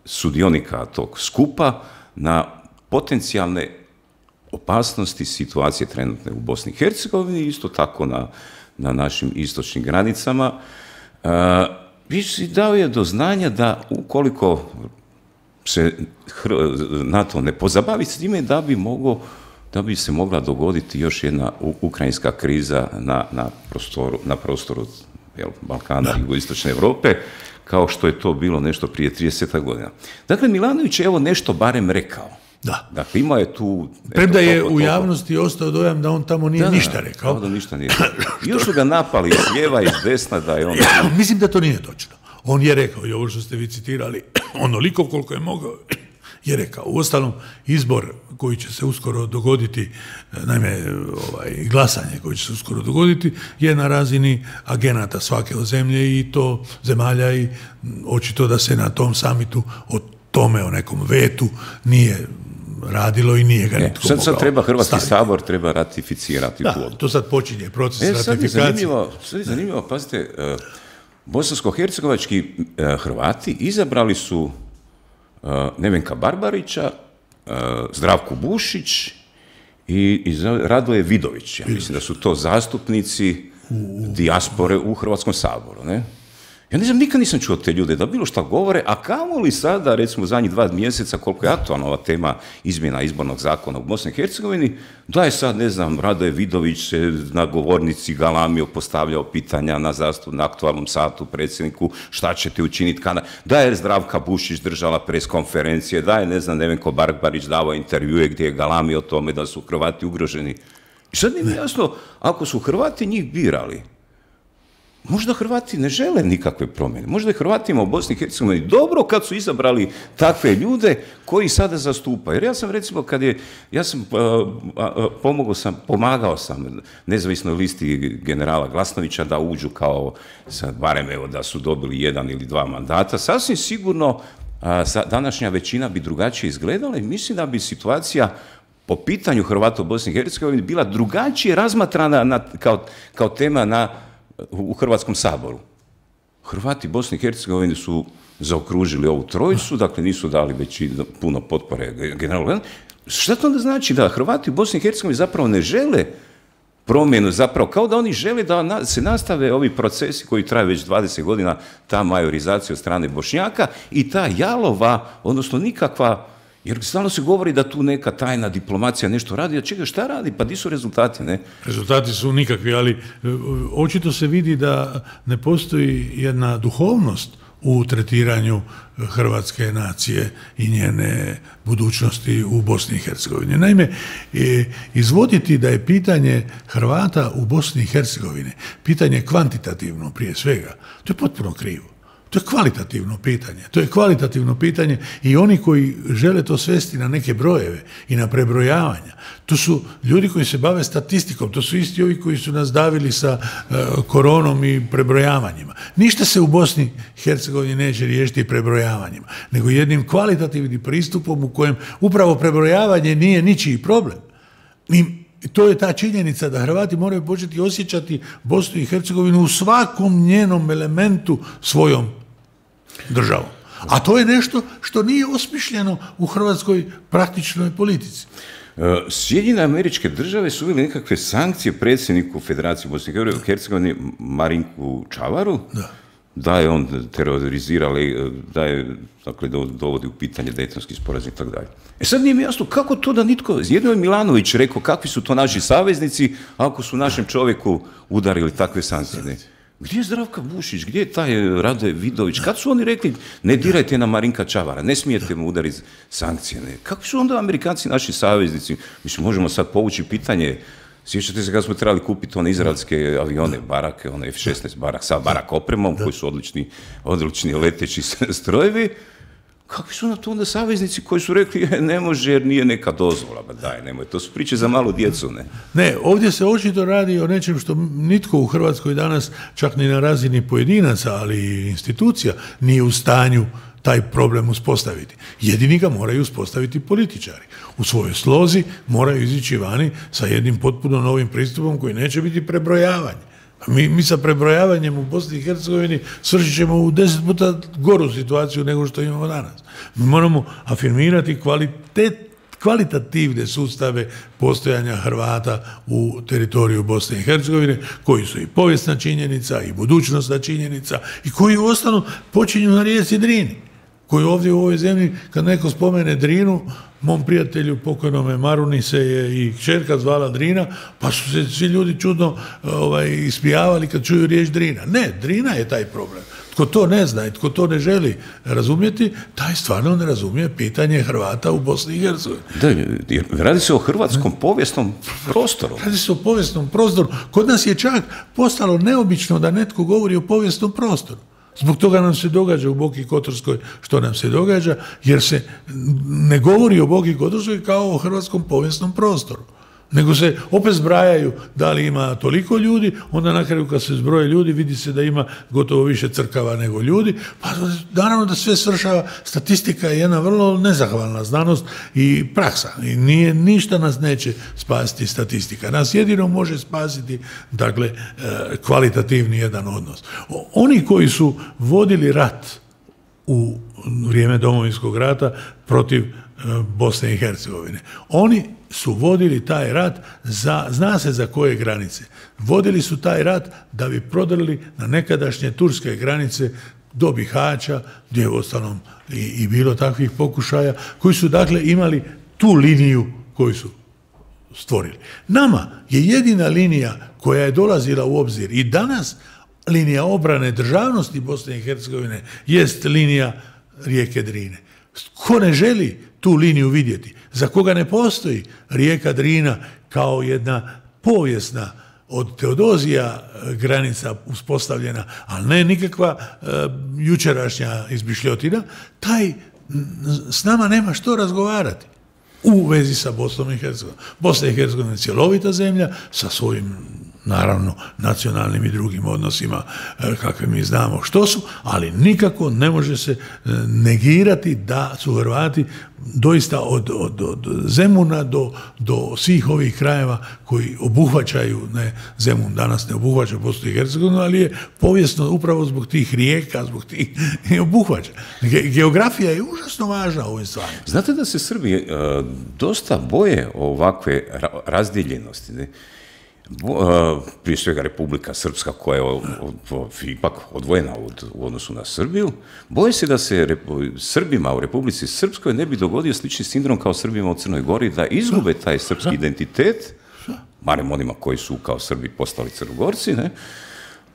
sudionika tog skupa na potencijalne opasnosti situacije trenutne u Bosni i Hercegovini, isto tako na, na našim istočnim granicama. Uh, dao je do znanja da ukoliko se NATO ne pozabavi s time da bi mogo, da bi se mogla dogoditi još jedna ukrajinska kriza na, na prostoru, na prostoru jel, Balkana i jugoistočne Europe, kao što je to bilo nešto prije trideset godina. Dakle, Milanović je evo nešto barem rekao. Da. Dakle, imao je tu... Premda je u javnosti ostao dojam da on tamo nije da, ništa rekao. Da, da ništa nije rekao. Još su ga napali iz lijeva i iz desna da je on... Mislim da to nije točno. On je rekao, i ovo što ste vi citirali, onoliko koliko je mogao, je rekao. Uostalom, izbor koji će se uskoro dogoditi, naime, ovaj, glasanje koji će se uskoro dogoditi, je na razini agenata svake od zemlje i to zemalja i očito da se na tom samitu o tome, o nekom vetu, nije radilo i nije ga nitko sad, sad treba Hrvatski staviti. Sabor treba ratificirati tu odluku. Da, to sad počinje proces e, ratifikacije. Sad je zanimljivo, sad je zanimljivo pazite, uh, bosansko-hercegovački uh, Hrvati izabrali su uh, Nevenka Barbarića, uh, Zdravku Bušić i, i Radoje Vidović. Ja mislim da su to zastupnici u... dijaspore u Hrvatskom saboru, ne? Ja ne znam, nikad nisam čuo te ljude da bilo šta govore, a kamoli sada, recimo u zadnjih dva mjeseca, koliko je aktualna ova tema izmjena izbornog zakona u Bosni i Hercegovini, da je sad, ne znam, Radoje Vidović se na govornici galamio, postavljao pitanja na zastup, na aktualnom satu predsjedniku, šta ćete učiniti kada, da je Zdravka Bušić držala pres konferencije, da je, ne znam, Nevenko Barbarić davao intervjue gdje je galamio o tome da su Hrvati ugroženi. I sad nije jasno, ako su Hrvati njih birali, možda Hrvati ne žele nikakve promjene. Možda je Hrvatima u Bosni i Hercegovini dobro kad su izabrali takve ljude koji sada zastupaju. Jer ja sam recimo kad je, ja sam uh, uh, pomogao sam, pomagao sam nezavisnoj listi generala Glasnovića da uđu kao, sad barem evo da su dobili jedan ili dva mandata. Sasvim sigurno uh, današnja većina bi drugačije izgledala i mislim da bi situacija po pitanju Hrvata u Bosni i Hercegovini bila drugačije razmatrana na, kao, kao tema na u Hrvatskom saboru. Hrvati Bosne i Hercegovine su zaokružili ovu trojicu, dakle nisu dali već puno potpore generalu. Šta to onda znači? Da Hrvati u Bosni i Hercegovini zapravo ne žele promjenu, zapravo kao da oni žele da se nastave ovi procesi koji traju već dvadeset godina, ta majorizacija od strane Bošnjaka i ta jalova, odnosno nikakva. Jer stalno se govori da tu neka tajna diplomacija nešto radi, a čega šta radi? Pa di su rezultati, ne? Rezultati su nikakvi, ali očito se vidi da ne postoji jedna duhovnost u tretiranju hrvatske nacije i njene budućnosti u Bosni i Hercegovini. Naime, izvoditi da je pitanje Hrvata u Bosni i Hercegovini pitanje kvantitativno prije svega, to je potpuno krivo. To je kvalitativno pitanje. To je kvalitativno pitanje i oni koji žele to svesti na neke brojeve i na prebrojavanja. To su ljudi koji se bave statistikom. To su isti ovi koji su nas davili sa uh, koronom i prebrojavanjima. Ništa se u Bosni i Hercegovini neće riješiti prebrojavanjima, nego jednim kvalitativnim pristupom u kojem upravo prebrojavanje nije ničiji problem. I to je ta činjenica da Hrvati moraju početi osjećati Bosnu i Hercegovinu u svakom njenom elementu svojom državom. A to je nešto što nije osmišljeno u hrvatskoj praktičnoj politici. Sjedinjene Američke Države su uveli nekakve sankcije predsjedniku Federacije Bosne i Hercegovine Marinku Čavaru, da. da je on terorizirali, da je, dakle, dovodi u pitanje Dejtonski sporazum i tako dalje. E sad nije mi jasno kako to da nitko, jedno je Milanović rekao kakvi su to naši saveznici ako su našem čovjeku udarili takve sankcije. Ne? Gdje je Zdravka Bušić, gdje je taj Radoje Vidović, kad su oni rekli ne dirajte na Marinka Čavara, ne smijete mu udariti sankcije. Ne? Kakvi su onda Amerikanci naši saveznici? Mislim, možemo sad povući pitanje. Sjećate se kad smo trebali kupiti one izraelske avione, barake, one F šesnaest barak, sa barak opremom, koji su odlični, odlični leteći strojevi. Kakvi su na to onda saveznici koji su rekli ne može jer nije neka dozvola, ba daj, nemoj, to su priče za malu djecu, ne? Ne, ovdje se očito radi o nečem što nitko u Hrvatskoj danas, čak ni na razini pojedinaca, ali i institucija, nije u stanju taj problem uspostaviti. Jedini ga moraju uspostaviti političari. U svojoj slozi moraju izići vani sa jednim potpuno novim pristupom koji neće biti prebrojavanje. Mi, mi sa prebrojavanjem u Bosni i Hercegovini svršit ćemo u deset puta goru situaciju nego što imamo danas. Mi moramo afirmirati kvalitet, kvalitativne sustave postojanja Hrvata u teritoriju Bosne i Hercegovine, koji su i povijesna činjenica, i budućnostna činjenica, i koji u osnovu počinju na rijeci Drini. koji ovdje u ovoj zemlji, kad neko spomene Drinu, mom prijatelju pokojnome Maruni se je i kćerka zvala Drina, pa su se svi ljudi čudno ovaj, ispijavali kad čuju riječ Drina. Ne, Drina je taj problem. Tko to ne zna i tko to ne želi razumjeti, taj stvarno ne razumije pitanje Hrvata u Bosni i Hercegovini. Da, jer radi se o hrvatskom povijesnom prostoru. Radi se o povijesnom prostoru. Kod nas je čak postalo neobično da netko govori o povijesnom prostoru. Zbog toga nam se događa u Boki Kotorskoj što nam se događa, jer se ne govori o Boki Kotorskoj kao o hrvatskom povijesnom prostoru. Nego se opet zbrajaju da li ima toliko ljudi, onda na kraju kad se zbroje ljudi vidi se da ima gotovo više crkava nego ljudi, pa naravno da sve svršava, statistika je jedna vrlo nezahvalna znanost i praksa. I nije, ništa nas neće spasiti statistika. Nas jedino može spasiti, dakle, kvalitativni jedan odnos. Oni koji su vodili rat u vrijeme Domovinskog rata protiv Bosne i Hercegovine, oni su vodili taj rat za, zna se za koje granice. Vodili su taj rat da bi prodrli na nekadašnje turske granice do Bihaća, gdje je uostalom i, i bilo takvih pokušaja, koji su dakle imali tu liniju koju su stvorili. Nama je jedina linija koja je dolazila u obzir i danas linija obrane državnosti Bosne i Hercegovine jest linija rijeke Drine. Ko ne želi tu liniju vidjeti, za koga ne postoji rijeka Drina kao jedna povijesna od Teodozija granica uspostavljena, ali ne nikakva e, jučerašnja izmišljotina, taj s nama nema što razgovarati u vezi sa Bosnom i Hercegovinom. Bosna i Hercegovina je cjelovita zemlja sa svojim, naravno, nacionalnim i drugim odnosima kakve mi znamo što su, ali nikako ne može se negirati da su Hrvati doista od, od, od Zemuna do, do svih ovih krajeva koji obuhvaćaju, ne, Zemun danas ne obuhvaća Bosnu i Hercegovinu, ali je povijesno upravo zbog tih rijeka, zbog tih i obuhvaća. Ge, geografija je užasno važna u ovim stvarima. Znate da se Srbi uh, dosta boje ovakve ra razdjeljenosti, ne? Prije svega Republika Srpska koja je od, od, ipak odvojena od, u odnosu na Srbiju, boje se da se rep, Srbima u Republici Srpskoj ne bi dogodio slični sindrom kao Srbima u Crnoj Gori, da izgube taj srpski identitet, barem onima koji su kao Srbi postali Crnogorci, ne?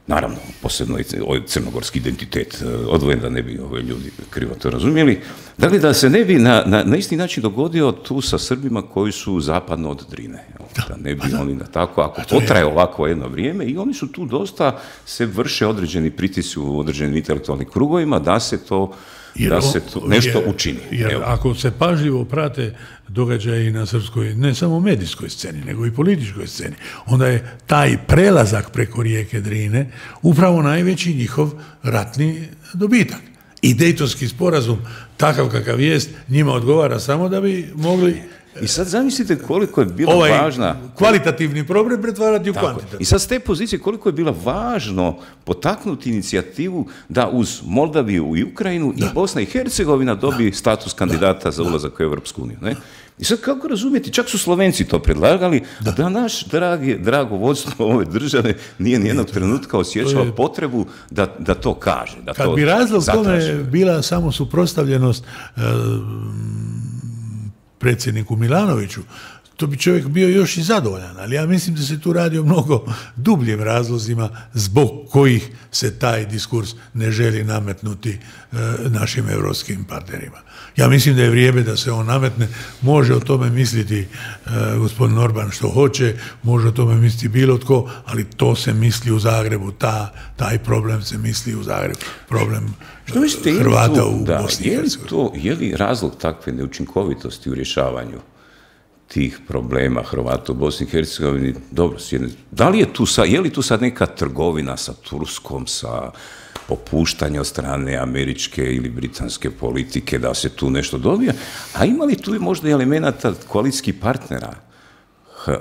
Naravno, posebno i crnogorski identitet odvojen, da ne bi ove ljudi krivo to razumjeli. Dakle, da se ne bi na, na, na isti način dogodio tu sa Srbima koji su zapadno od Drine. Da ne bi oni na tako, ako potraje ovako jedno vrijeme, i oni su tu dosta, se vrše određeni pritisci u određenim intelektualnim krugovima da se to, jer, da se to nešto jer, učini. Jer Evo. Ako se pažljivo prate događaji na srpskoj, ne samo medijskoj sceni, nego i političkoj sceni, onda je taj prelazak preko rijeke Drine upravo najveći njihov ratni dobitak. I Dejtonski sporazum, takav kakav jest, njima odgovara samo da bi mogli... I sad zamislite koliko je bila ovaj važna... kvalitativni problem pretvarati u kvantitativni. I sad s te pozicije koliko je bila važno potaknuti inicijativu da uz Moldaviju i Ukrajinu da. i Bosna i Hercegovina dobije status kandidata da. za ulazak u Europsku uniju. Ne? I sad kako razumijeti, čak su Slovenci to predlagali, da, da naš dragi, drago vodstvo ove države nije nijednog trenutka osjećalo je... potrebu da, da to kaže. Da Kad to bi razlog tome bila samo suprotstavljenost uh, predsjedniku Milanoviću, to bi čovjek bio još i zadovoljan, ali ja mislim da se tu radi o mnogo dubljim razlozima zbog kojih se taj diskurs ne želi nametnuti e, našim europskim partnerima. Ja mislim da je vrijeme da se on nametne, može o tome misliti e, gospodin Orban što hoće, može o tome misliti bilo tko, ali to se misli u Zagrebu, ta, taj problem se misli u Zagrebu, problem što mislite, Hrvata to, u da, Bosni i Hercegovini. Je li razlog takve neučinkovitosti u rješavanju tih problema Hrvata u Bosni i Hercegovini? Dobro, da li je tu sad, je li tu sad neka trgovina sa Turskom, sa popuštanje od strane američke ili britanske politike da se tu nešto dobije, a ima li tu možda i elemenata koalicijskih partnera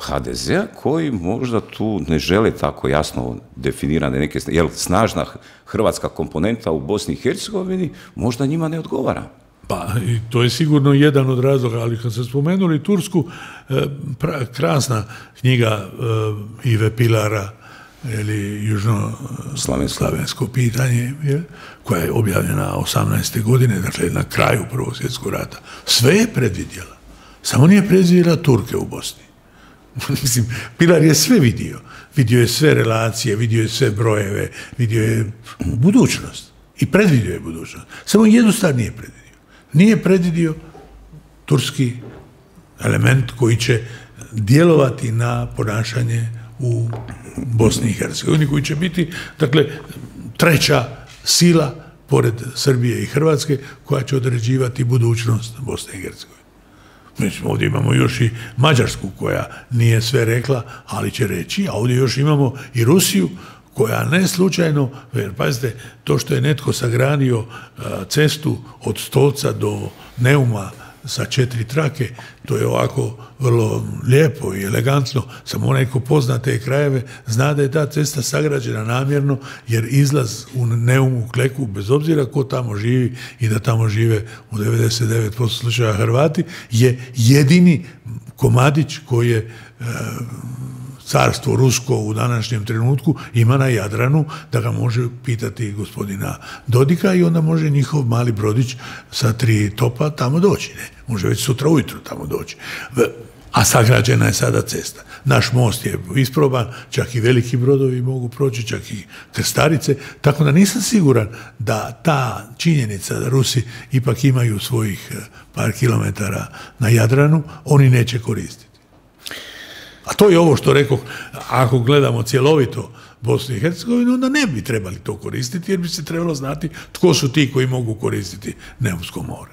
ha de zea koji možda tu ne žele tako jasno definirane neke, jer snažna hrvatska komponenta u Bosni i Hercegovini možda njima ne odgovara. Pa, to je sigurno jedan od razloga, ali kad ste spomenuli Tursku, pra, krasna knjiga Ive Pilara ili južnoslavensko pitanje, jel, koja je objavljena osamnaeste godine, dakle na kraju Prvog svjetskog rata. Sve je predvidjela. Samo nije predvidjela Turke u Bosni. Mislim, Pilar je sve vidio. Vidio je sve relacije, vidio je sve brojeve, vidio je budućnost. I predvidio je budućnost. Samo jednu stvar nije predvidio. Nije predvidio turski element koji će djelovati na ponašanje u Bosni i Hercegovini, koji će biti, dakle, treća sila pored Srbije i Hrvatske koja će određivati budućnost Bosne i Hercegovine. Mi ovdje imamo još i Mađarsku koja nije sve rekla, ali će reći, a ovdje još imamo i Rusiju koja ne slučajno, jer pazite, to što je netko sagradio cestu od Stolca do Neuma sa četiri trake, to je ovako vrlo lijepo i elegantno, samo onaj ko pozna te krajeve zna da je ta cesta sagrađena namjerno, jer izlaz u Neumu, Kleku, bez obzira ko tamo živi i da tamo žive u devedeset devet posto slučaja Hrvati, je jedini komadić koji je e, carstvo rusko u današnjem trenutku ima na Jadranu, da ga može pitati gospodina Dodika i onda može njihov mali brodić sa tri topa tamo doći. Ne? Može već sutra ujutro tamo doći. A sagrađena je sada cesta. Naš most je isproban, čak i veliki brodovi mogu proći, čak i krstarice, tako da nisam siguran da ta činjenica da Rusi ipak imaju svojih par kilometara na Jadranu, oni neće koristiti. A to je ovo što rekao, ako gledamo cjelovito Bosnu i Hercegovinu, onda ne bi trebali to koristiti, jer bi se trebalo znati tko su ti koji mogu koristiti Neumsko more.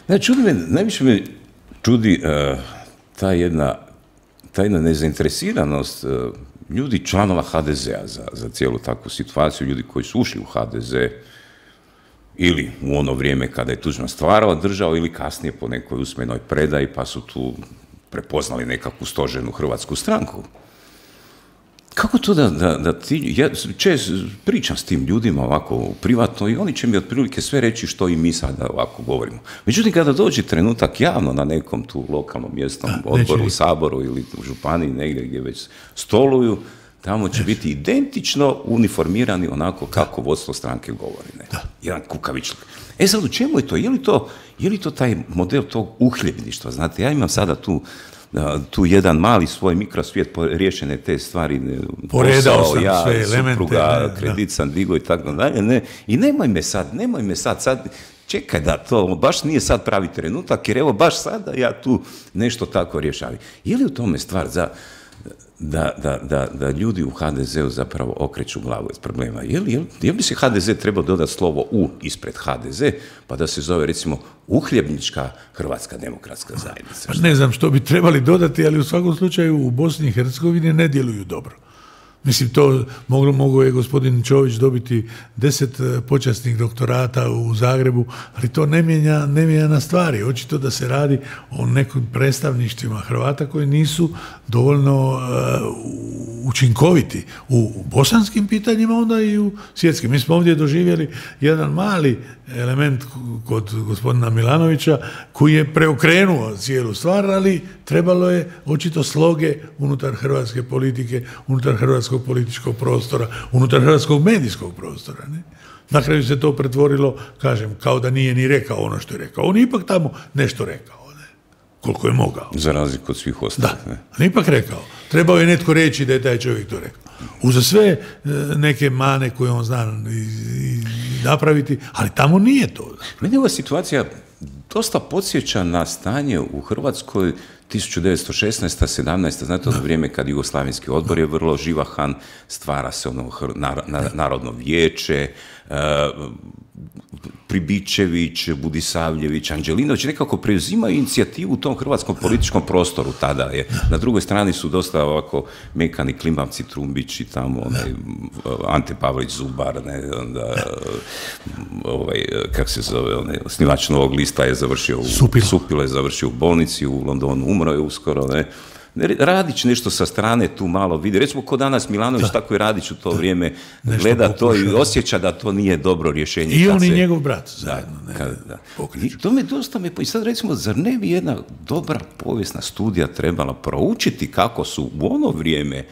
Ne, čudi me, najviše me čudi uh, ta jedna, ta jedna nezainteresiranost uh, ljudi, članova ha de zea za, za cijelu takvu situaciju, ljudi koji su ušli u ha de ze ili u ono vrijeme kada je Tuđman stvarao državu ili kasnije po nekoj usmenoj predaji pa su tu prepoznali nekakvu stožernu hrvatsku stranku. Kako to da, da, da ti, ja čest pričam s tim ljudima ovako privatno i oni će mi otprilike sve reći što i mi sada ovako govorimo. Međutim, kada dođe trenutak javno na nekom tu lokalnom mjesnom a, odboru, u Saboru ili u županiji, negdje gdje već stoluju, tamo će biti identično uniformirani onako kako vodstvo stranke govori. Ne? Da. Jedan kukavičlik. E sad, u čemu je to? Je li to, je li to taj model tog uhljebništva? Znate, ja imam sada tu, tu jedan mali svoj mikrosvijet, riješene te stvari, poredao posao, sam ja, sve supruga, elemente, ne, kredit sam digo i tako dalje, ne. I nemoj me sad, nemoj me sad, sad, čekaj da to baš nije sad pravi trenutak, jer evo baš sada ja tu nešto tako rješavam. Je li u tome stvar za Da, da, da, da ljudi u ha de zeu zapravo okreću glavu iz problema? Je li, je li, je li bi se ha de ze trebao dodati slovo U ispred ha de ze, pa da se zove recimo uhljebnička Hrvatska demokratska zajednica? Pa ne znam što bi trebali dodati, ali u svakom slučaju u Bosni i Hercegovini ne djeluju dobro. Mislim, to moglo, mogo je gospodin Čović dobiti deset počasnih doktorata u Zagrebu, ali to ne mijenja, ne mijenja na stvari. Očito da se radi o nekim predstavništvima Hrvata koji nisu dovoljno uh, učinkoviti u bosanskim pitanjima, onda i u svjetskim. Mi smo ovdje doživjeli jedan mali element kod gospodina Milanovića koji je preokrenuo cijelu stvar, ali trebalo je očito sloge unutar hrvatske politike, unutar hrvatskog političkog prostora, unutar hrvatskog medijskog prostora. Ne? Na kraju se to pretvorilo, kažem, kao da nije ni rekao ono što je rekao. On je ipak tamo nešto rekao, ne? Koliko je mogao. Za razliku od svih ostalih. Da, on je ipak rekao. Trebao je netko reći da je taj čovjek to rekao. Uza sve neke mane koje on zna napraviti, ali tamo nije to. Meni ova situacija dosta podsjeća na stanje u Hrvatskoj tisuću devetsto šesnaesta sedamnaesta Znate, ono vrijeme kad Jugoslavenski odbor je vrlo živahan, stvara se ono Narodno vijeće, Pribičević, Budisavljević, Anđelinović nekako preuzimaju inicijativu u tom hrvatskom političkom prostoru tada je. Na drugoj strani su dosta ovako mekani klimavci, Trumbić i tamo onaj, Ante Pavlić Zubar, ne, onda, ovaj, kako se zove, onaj, osnivač Novog lista je završio u Supilo. Supilo je završio u bolnici u Londonu, umro je uskoro, ne. Radić nešto sa strane tu malo vidi. Recimo, ko danas Milanović, da. Tako i Radić u to da. Vrijeme nešto gleda pokuša, to i osjeća da to nije dobro rješenje. I on i se... njegov brat zajedno. Da, ne, kad, da. I to me dosta me... I sad recimo, zar ne bi jedna dobra povijesna studija trebala proučiti kako su u ono vrijeme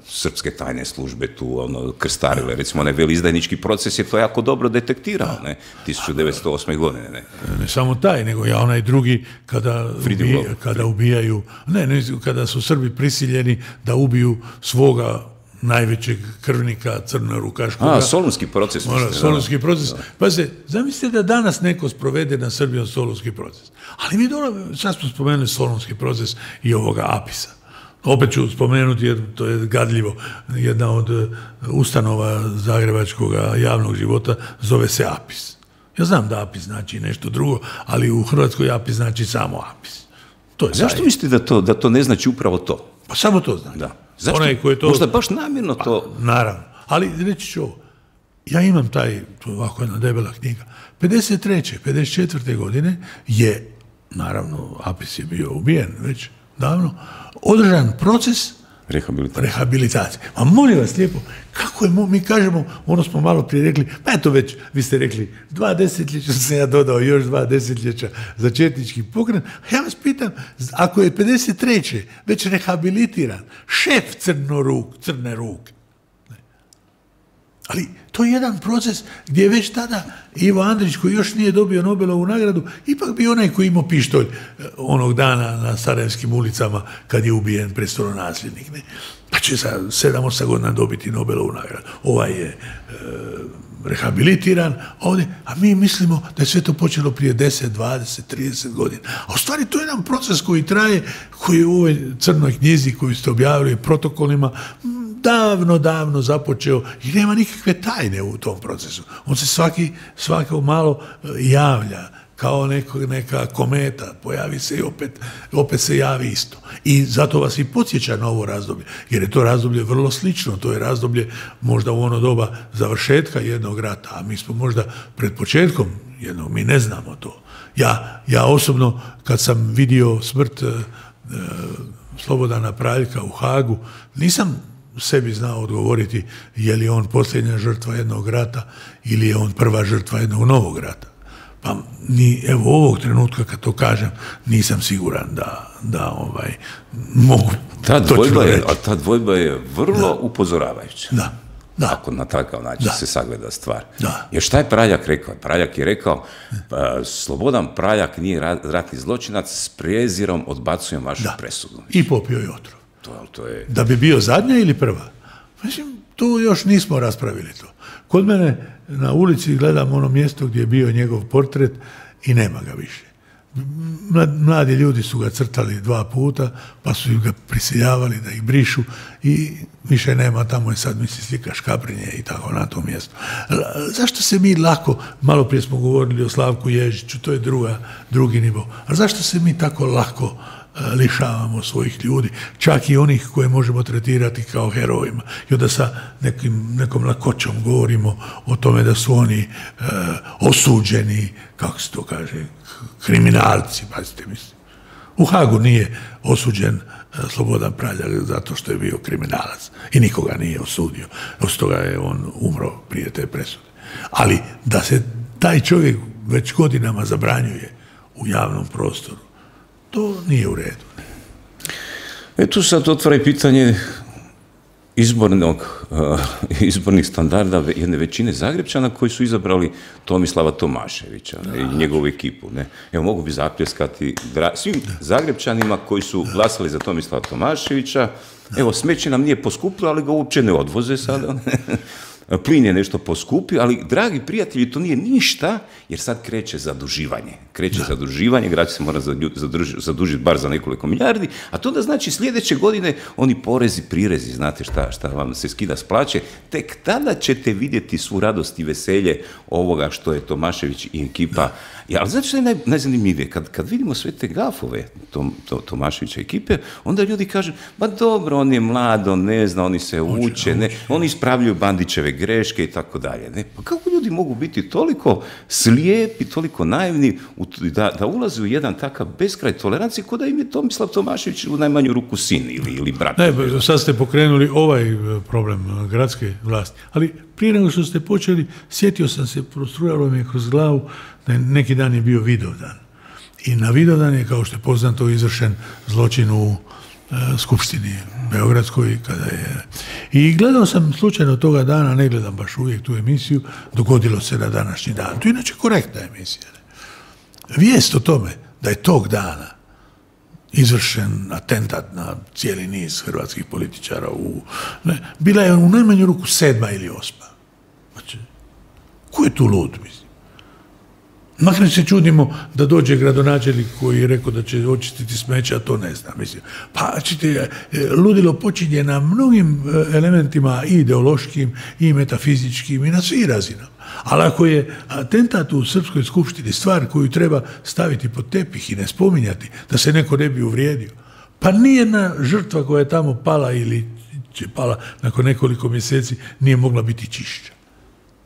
srpske tajne službe tu ono, krstarile. Recimo, onaj velizdajnički proces je to jako dobro detektirao, ne, tisuću devetsto osme. godine. Ne. Ne samo taj, nego ja onaj drugi kada, ubija, kada ubijaju, ne, ne, kada su Srbi prisiljeni da ubiju svoga najvećeg krvnika crnorukaškoga. A, solunski proces. Mora, solunski proces. Pa se, zamislite da danas neko sprovede na Srbijom solunski proces. Ali mi dobro, sad smo spomenuli solunski proces i ovoga Apisa. Opet ću spomenuti, jer to je gadljivo, jedna od ustanova zagrebačkog javnog života zove se Apis. Ja znam da Apis znači nešto drugo, ali u Hrvatskoj Apis znači samo Apis. To je zašto mislite da to, da to ne znači upravo to? Pa samo to znači. Da. Zašto? Onaj koji je to... Možda baš namjerno to... Pa, naravno. Ali reći ću ovo. Ja imam taj, to je ovako jedna debela knjiga. pedeset treće pedeset četvrte godine je, naravno, Apis je bio ubijen već davno, održan proces rehabilitacije. rehabilitacije. A molim vas lijepo, kako je, mi kažemo, ono smo malo prije rekli, pa eto već, vi ste rekli, dva desetljeća sam ja dodao, još dva desetljeća za četnički pokret. Ja vas pitam, ako je pedeset treće već rehabilitiran šef crnoruk, crne ruke, ali to je jedan proces gdje je već tada Ivo Andrić, koji još nije dobio Nobelovu nagradu, ipak bio onaj koji imao pištolj onog dana na Sarajevskim ulicama kad je ubijen prestolonasljednik. Ne? Pa će za sedam osam godina dobiti Nobelovu nagradu. Ovaj je e, rehabilitiran ovdje, a mi mislimo da je sve to počelo prije deset, dvadeset, trideset godina. A u stvari to je jedan proces koji traje, koji je u ovoj crnoj knjizi koju ste objavili protokolima davno, davno započeo i nema nikakve tajne u tom procesu. On se svaki, svako malo javlja kao neko, neka kometa, pojavi se i opet, opet se javi isto. I zato vas i podsjeća na ovo razdoblje, jer je to razdoblje vrlo slično, to je razdoblje možda u ono doba završetka jednog rata, a mi smo možda pred početkom jednog, mi ne znamo to. Ja, ja osobno, kad sam vidio smrt e, Slobodana Praljka u Hagu, nisam sebi znao odgovoriti je li on posljednja žrtva jednog rata ili je on prva žrtva jednog novog rata. Pa ni, evo ovog trenutka kad to kažem nisam siguran da, da ovaj, mogu ta dvojba reći. je, a ta dvojba je vrlo da. upozoravajuća. Da. Da. Ako na takav način da. se sagleda stvar. Da. Jer šta je Praljak rekao? Praljak je rekao, pa, Slobodan Praljak nije ratni zločinac, s prezirom odbacujem vašu da. presudu. I popio je otrov. To, to je... Da bi bio zadnja ili prva? Mislim, tu još nismo raspravili to. Kod mene na ulici gledam ono mjesto gdje je bio njegov portret i nema ga više. Mladi ljudi su ga crtali dva puta, pa su ga prisiljavali da ih brišu i više nema, tamo je sad, misli, slika Škabrinje i tako na tom mjestu. Zašto se mi lako, malo prije smo govorili o Slavku Ježiću, to je druga, drugi nivo, ali zašto se mi tako lako lišavamo svojih ljudi, čak i onih koje možemo tretirati kao herojima. I onda sa nekim, nekom lakoćom govorimo o tome da su oni e, osuđeni, kako se to kaže, kriminalci, pazite mislim. U Hagu nije osuđen e, Slobodan Praljak zato što je bio kriminalac i nikoga nije osudio. Od toga je on umro prije te presude. Ali da se taj čovjek već godinama zabranjuje u javnom prostoru, to nije u redu. E tu sad otvara i pitanje izbornog, uh, izbornih standarda jedne većine Zagrepčana koji su izabrali Tomislava Tomaševića ne, i njegovu ekipu. Ne. Evo, mogu bi zapljeskati svim Zagrepčanima koji su glasali za Tomislava Tomaševića. Evo, smeće nam nije poskupilo, ali ga uopće ne odvoze sada. Plin je nešto poskupio, ali, dragi prijatelji, to nije ništa, jer sad kreće zaduživanje. Kreće da. zaduživanje, grad se mora zadužiti bar za nekoliko milijardi, a to da znači sljedeće godine oni porezi, prirezi, znate šta, šta vam se skida s plaće, tek tada ćete vidjeti svu radost i veselje ovoga što je Tomašević i ekipa. Da. Ja, ali znači što je naj, najzanimljivije, kad, kad vidimo sve te gafove Tom, to, Tomaševića ekipe, onda ljudi kažu, ba dobro, on je mlad, on ne zna, oni se uče, uče, ne, uče. Oni ispravljaju Bandićeve greške i tako dalje. Ne? Pa kako ljudi mogu biti toliko slijepi, toliko naivni da, da ulaze u jedan takav beskraj tolerancije ko da im je Tomislav Tomašević u najmanju ruku sin ili, ili brat. Ne, sad ste pokrenuli ovaj problem gradske vlasti, ali prije nego što ste počeli, sjetio sam se, prostrujalo mi je kroz glavu da neki dan je bio Vidovdan. I na Vidovdan je, kao što je poznato, izvršen zločin u skupštini beogradskoj kada je... I gledao sam slučajno toga dana, ne gledam baš uvijek tu emisiju, dogodilo se na današnji dan. To je inače korektna emisija. Vijest o tome da je tog dana izvršen atentat na cijeli niz hrvatskih političara u, ne, bila je u najmanju ruku sedma ili osma. Znači, ko je tu lud, mislim? Makar se čudimo da dođe gradonačelnik koji je rekao da će očistiti smeće, a to ne zna. Mislim. Pa, čite, ludilo počinje na mnogim elementima i ideološkim, i metafizičkim, i na svih razinama. Ali ako je atentat u Srpskoj skupštini stvar koju treba staviti pod tepih i ne spominjati, da se neko ne bi uvrijedio, pa nijedna žrtva koja je tamo pala ili će pala nakon nekoliko mjeseci nije mogla biti čišća.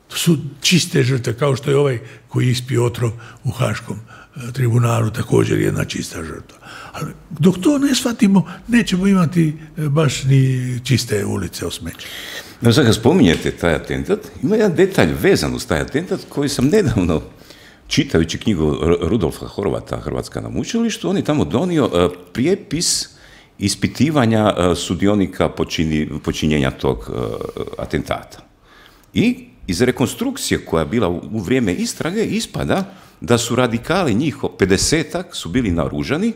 To su čiste žrtve, kao što je ovaj koji ispio otrov u Haškom tribunalu, također jedna čista žrtva. Ali dok to ne shvatimo, nećemo imati baš ni čiste ulice o smeću. No, sad kad spominjete taj atentat, ima jedan detalj vezan uz taj atentat koji sam nedavno, čitajući knjigu Rudolfa Horvata, Hrvatska na mučilištu, on je tamo donio prijepis ispitivanja sudionika počini, počinjenja tog atentata. I iz rekonstrukcije koja je bila u vrijeme istrage ispada da su radikali, njih pedesetak, su bili naoružani,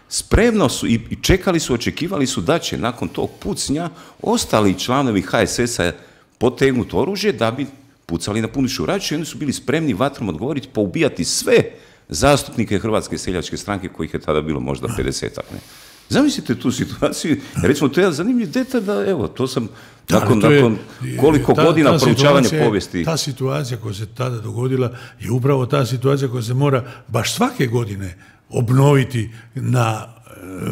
spremno su i čekali su, očekivali su da će nakon tog pucnja ostali članovi ha es es a potegnuti oružje da bi pucali na punu šuraču i oni su bili spremni vatrom odgovoriti, poubijati sve zastupnike Hrvatske seljačke stranke, kojih je tada bilo možda pedesetak. Ne? Zamislite tu situaciju, recimo to je jedan zanimljiv detalj da, evo, to sam nakon, da, to je, nakon koliko ta, godina ta proučavanja povijesti. Ta situacija koja se tada dogodila je upravo ta situacija koja se mora baš svake godine obnoviti na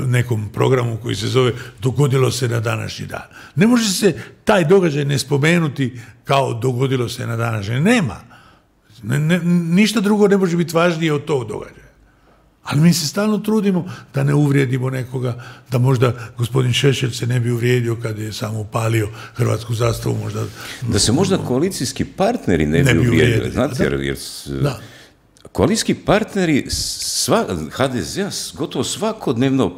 nekom programu koji se zove dogodilo se na današnji dan. Ne može se taj događaj ne spomenuti kao dogodilo se na današnji. Nema. Ne, ne, ništa drugo ne može biti važnije od tog događaja. Ali mi se stalno trudimo da ne uvrijedimo nekoga, da možda gospodin Šešelj se ne bi uvrijedio kad je samo upalio hrvatsku zastavu. Možda, da se možda koalicijski partneri ne, ne bi uvrijedili. Znate, jer, jer da. Koalicijski partneri sva, ha de ze gotovo svakodnevno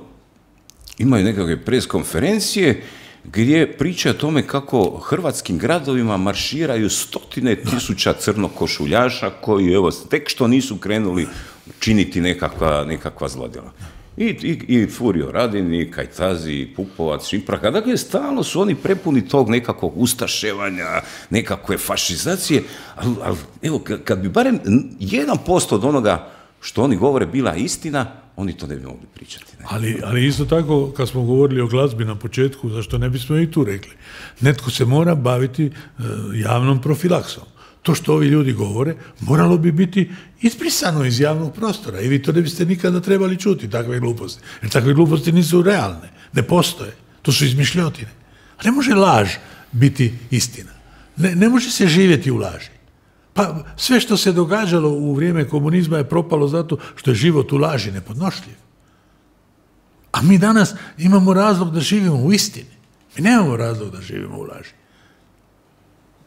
imaju nekakve pres konferencije gdje priča o tome kako hrvatskim gradovima marširaju stotine tisuća crnokošuljaša koji, evo, tek što nisu krenuli činiti nekakva, nekakva zlodjela. I, i, i Furio Radin, i Kajtazi, i Pupovac, Šipraka. Dakle, stalno su oni prepuni tog nekakvog ustaševanja, nekakve fašizacije, ali, ali evo, kad bi barem jedan posto od onoga što oni govore bila istina, oni to ne bi mogli pričati. Ne? Ali, ali isto tako, kad smo govorili o glazbi na početku, zašto ne bismo i tu rekli, netko se mora baviti uh, javnom profilaksom. To što ovi ljudi govore, moralo bi biti izbrisano iz javnog prostora i vi to ne biste nikada trebali čuti, takve gluposti. Jer takve gluposti nisu realne, ne postoje. To su izmišljotine. A ne može laž biti istina. Ne, ne može se živjeti u laži. Pa sve što se događalo u vrijeme komunizma je propalo zato što je život u laži nepodnošljiv. A mi danas imamo razlog da živimo u istini. Mi nemamo razlog da živimo u laži.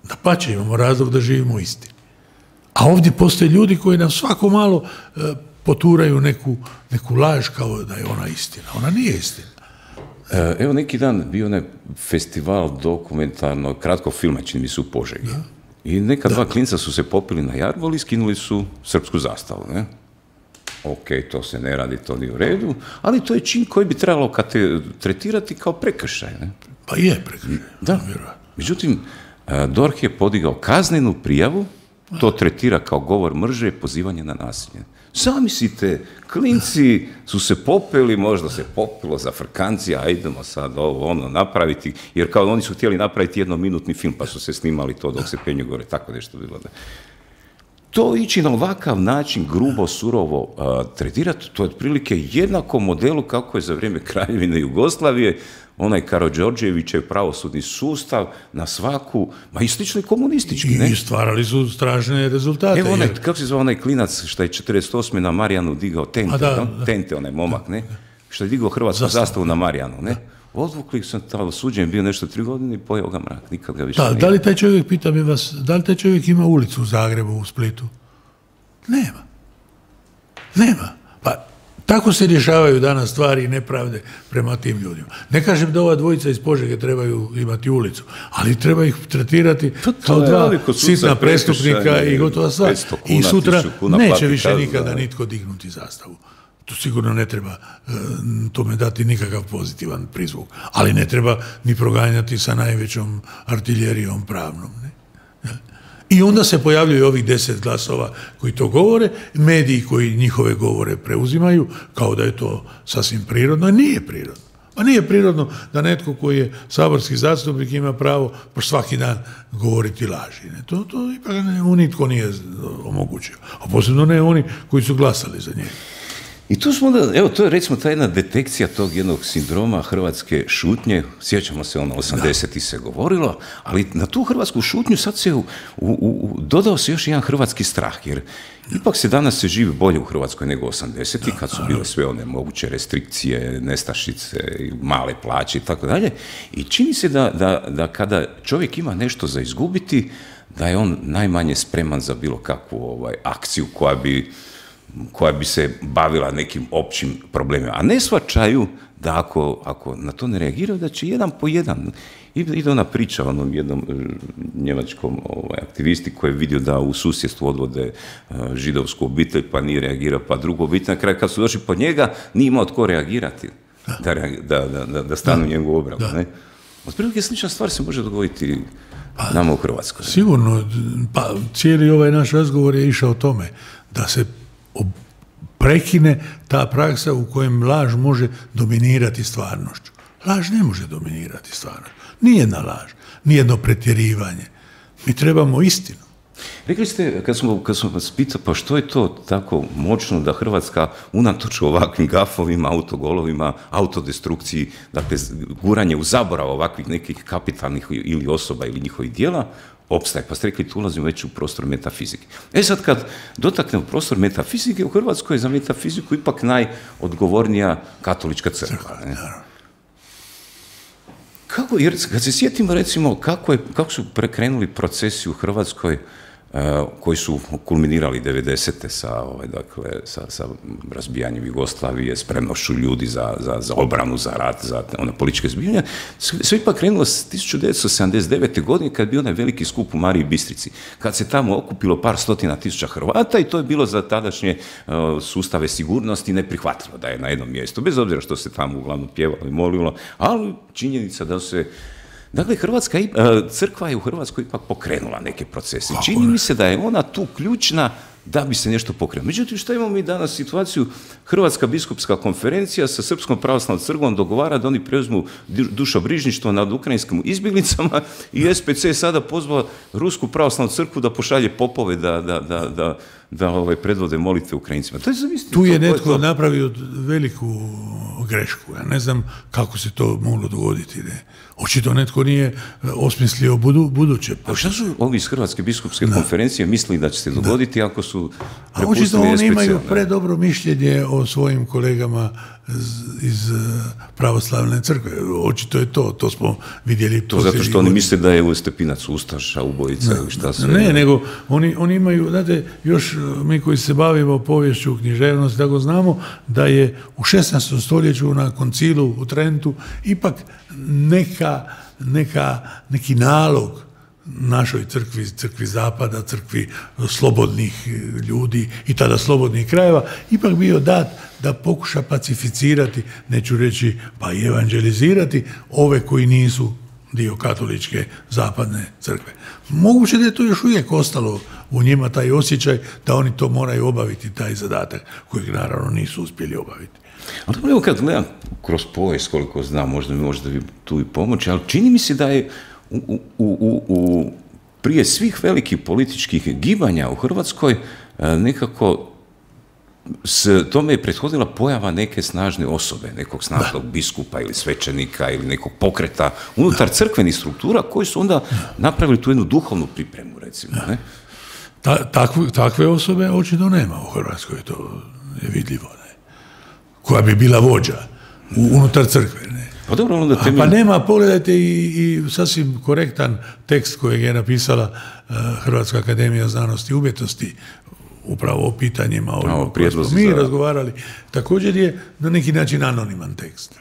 Dapače, imamo razlog da živimo u istini. A ovdje postoje ljudi koji nam svako malo e, poturaju neku, neku laž kao da je ona istina. Ona nije istina. E, evo neki dan bio onaj festival dokumentarnog kratkog filma, čini mi se u Požegi. Da. I neka da. dva klinca su se popili na jarbol i skinuli su srpsku zastavu. Ne? Ok, to se ne radi, to nije u redu, ali to je čin koji bi trebalo kate, tretirati kao prekršaj. Ne? Pa je prekršaj. Da. Međutim, D O R H je podigao kaznenu prijavu, to tretira kao govor mržnje i pozivanje na nasilje. Zamislite, klinci su se popeli, možda se popilo za frkancija, a idemo sad ovo ono napraviti, jer kao oni su htjeli napraviti jednominutni film, pa su se snimali to dok se penju gore, tako nešto bilo. Da. To ići na ovakav način, grubo, surovo uh, tretirati, to je otprilike jednako modelu kako je za vrijeme Kraljevine Jugoslavije onaj Karađorđevićev pravosudni sustav na svaku, ma i slično i komunistički, ne? I stvarali su strašne rezultate. Evo onaj, jer... kako se zove onaj klinac što je četrdeset osme na Marijanu digao Tente, da, no? da. Tente, onaj momak, ne? Što je digao hrvatsku zastavu, zastavu na Marijanu, ne? Da. Odvukli sam tamo suđen, bio nešto tri godine i pojeo ga mrak, nikad ga više da, nije. Da li taj čovjek, pitam je vas, da li taj čovjek ima ulicu u Zagrebu, u Splitu? Nema. Nema. Pa tako se rješavaju danas stvari i nepravde prema tim ljudima. Ne kažem da ova dvojica iz Požege trebaju imati ulicu, ali treba ih tretirati kao dva sitna prestupnika i gotova stvar. I sutra neće više nikada nitko dignuti zastavu. To sigurno ne treba e, tome dati nikakav pozitivan prizvuk, ali ne treba ni proganjati sa najvećom artiljerijom pravnom. Ne? I onda se pojavljaju ovih deset glasova koji to govore, mediji koji njihove govore preuzimaju, kao da je to sasvim prirodno, a nije prirodno. Pa nije prirodno da netko koji je saborski zastupnik ima pravo po svaki dan govoriti laži. Ne? To, to ipak ne, nitko nije omogućio. A posebno ne oni koji su glasali za njega. I tu smo onda, evo, to je recimo ta jedna detekcija tog jednog sindroma hrvatske šutnje, sjećamo se, ono, osamdesetih se govorilo, ali na tu hrvatsku šutnju sad se u, u, u, dodao se još jedan hrvatski strah, jer ipak se danas se živi bolje u Hrvatskoj nego osamdesetih, kad su bile sve one moguće restrikcije, nestašice, male plaće i tako dalje, i čini se da, da, da kada čovjek ima nešto za izgubiti, da je on najmanje spreman za bilo kakvu ovaj, akciju koja bi koja bi se bavila nekim općim problemima. A ne shvaćaju da ako, ako na to ne reagiraju, da će jedan po jedan. Ide ona priča o onom jednom njemačkom ovaj, aktivisti koji je vidio da u susjedstvu odvode uh, židovsku obitelj, pa nije reagirao, pa drugu obitelj. Na kraju kad su došli po njega, nije imao tko reagirati, da, da, da, da, da stanu njegovu obranu. Ne? Otprilike slična stvar se može dogoditi pa, nama u Hrvatskoj. Sigurno. Pa, cijeli ovaj naš razgovor je išao o tome da se prekine ta praksa u kojem laž može dominirati stvarnošću. Laž ne može dominirati stvarnošću. Nijedna laž, nijedno pretjerivanje. Mi trebamo istinu. Rekli ste, kad smo, kad smo vas pitali, pa što je to tako moćno da Hrvatska unatoč ovakvim gafovima, autogolovima, autodestrukciji, dakle, guranje u zaborav ovakvih nekih kapitalnih ili osoba ili njihovih djela, opstaje. Pa ste rekli, tu ulazimo već u prostor metafizike. E sad, kad dotaknemo prostor metafizike, u Hrvatskoj je za metafiziku ipak najodgovornija katolička crkva. Ne? Kako, jer kad se sjetimo, recimo, kako, je, kako su prekrenuli procesi u Hrvatskoj uh, koji su kulminirali devedesete sa, ovaj, dakle, sa, sa razbijanjem Jugoslavije, spremnošću ljudi za, za, za obranu, za rat, za ona političke zbivanja, sve ipak krenulo s tisuću devetsto sedamdeset devete. godine kad je bio onaj veliki skup u Mariji Bistrici, kad se tamo okupilo par stotina tisuća Hrvata i to je bilo za tadašnje uh, sustave sigurnosti neprihvatljivo da je na jednom mjestu, bez obzira što se tamo uglavnom pjevalo i molilo, ali činjenica da se... Dakle, Hrvatska, crkva je u Hrvatskoj ipak pokrenula neke procese. Čini mi se da je ona tu ključna da bi se nešto pokrenulo. Međutim, što imamo mi danas situaciju? Hrvatska biskupska konferencija sa Srpskom pravoslavnom crkvom dogovara da oni preuzmu dušobrižništvo nad ukrajinskim izbjeglicama i S P C sada pozvao Rusku pravoslavnu crkvu da pošalje popove da, da, da, da, da ovaj, predvode molitve Ukrajincima. To je zavisno. Tu je netko to... napravio veliku grešku. Ja ne znam kako se to moglo dogoditi. Ne? Očito netko nije osmislio budu, buduće. A šta su ovi iz Hrvatske biskupske da. konferencije mislili da će se dogoditi da. ako su prepustili S P C? A očito oni imaju predobro mišljenje o svojim kolegama iz pravoslavne crkve. Očito je to, to smo vidjeli. To zato što oni misle da je u Stepinac ustaša, ubojica ili šta sve. Ne, nego oni, oni imaju, znate, još mi koji se bavimo poviješću, književnosti, tako znamo da je u šesnaestom stoljeću na koncilu u Trentu ipak neka, neka, neki nalog našoj crkvi, crkvi Zapada, crkvi slobodnih ljudi i tada slobodnih krajeva, ipak bio dat da pokuša pacificirati, neću reći pa i evanđelizirati ove koji nisu dio katoličke zapadne crkve. Moguće da je to još uvijek ostalo u njima taj osjećaj da oni to moraju obaviti, taj zadatak kojeg naravno nisu uspjeli obaviti. Ali evo kad gledam kroz povijest, koliko znam, možda mi možda vi tu i pomoći, ali čini mi se da je U, u, u, u, prije svih velikih političkih gibanja u Hrvatskoj nekako s tome je prethodila pojava neke snažne osobe, nekog snažnog da. biskupa ili svećenika ili nekog pokreta unutar da. crkvenih struktura koji su onda napravili tu jednu duhovnu pripremu, recimo. Ne? Ta, takve, takve osobe očito nema u Hrvatskoj, to je vidljivo. Ne? Koja bi bila vođa u, unutar crkve, ne? Pa, dobro, onda temelj... pa nema, pogledajte i, i sasvim korektan tekst kojeg je napisala uh, Hrvatska akademija znanosti i umjetnosti upravo o pitanjima o kojima smo mi za... razgovarali, također je na neki način anoniman tekst.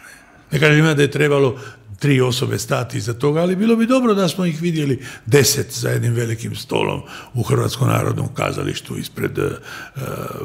Ne kažem da je trebalo tri osobe stati iza toga, ali bilo bi dobro da smo ih vidjeli deset za jednim velikim stolom u Hrvatskom narodnom kazalištu ispred uh,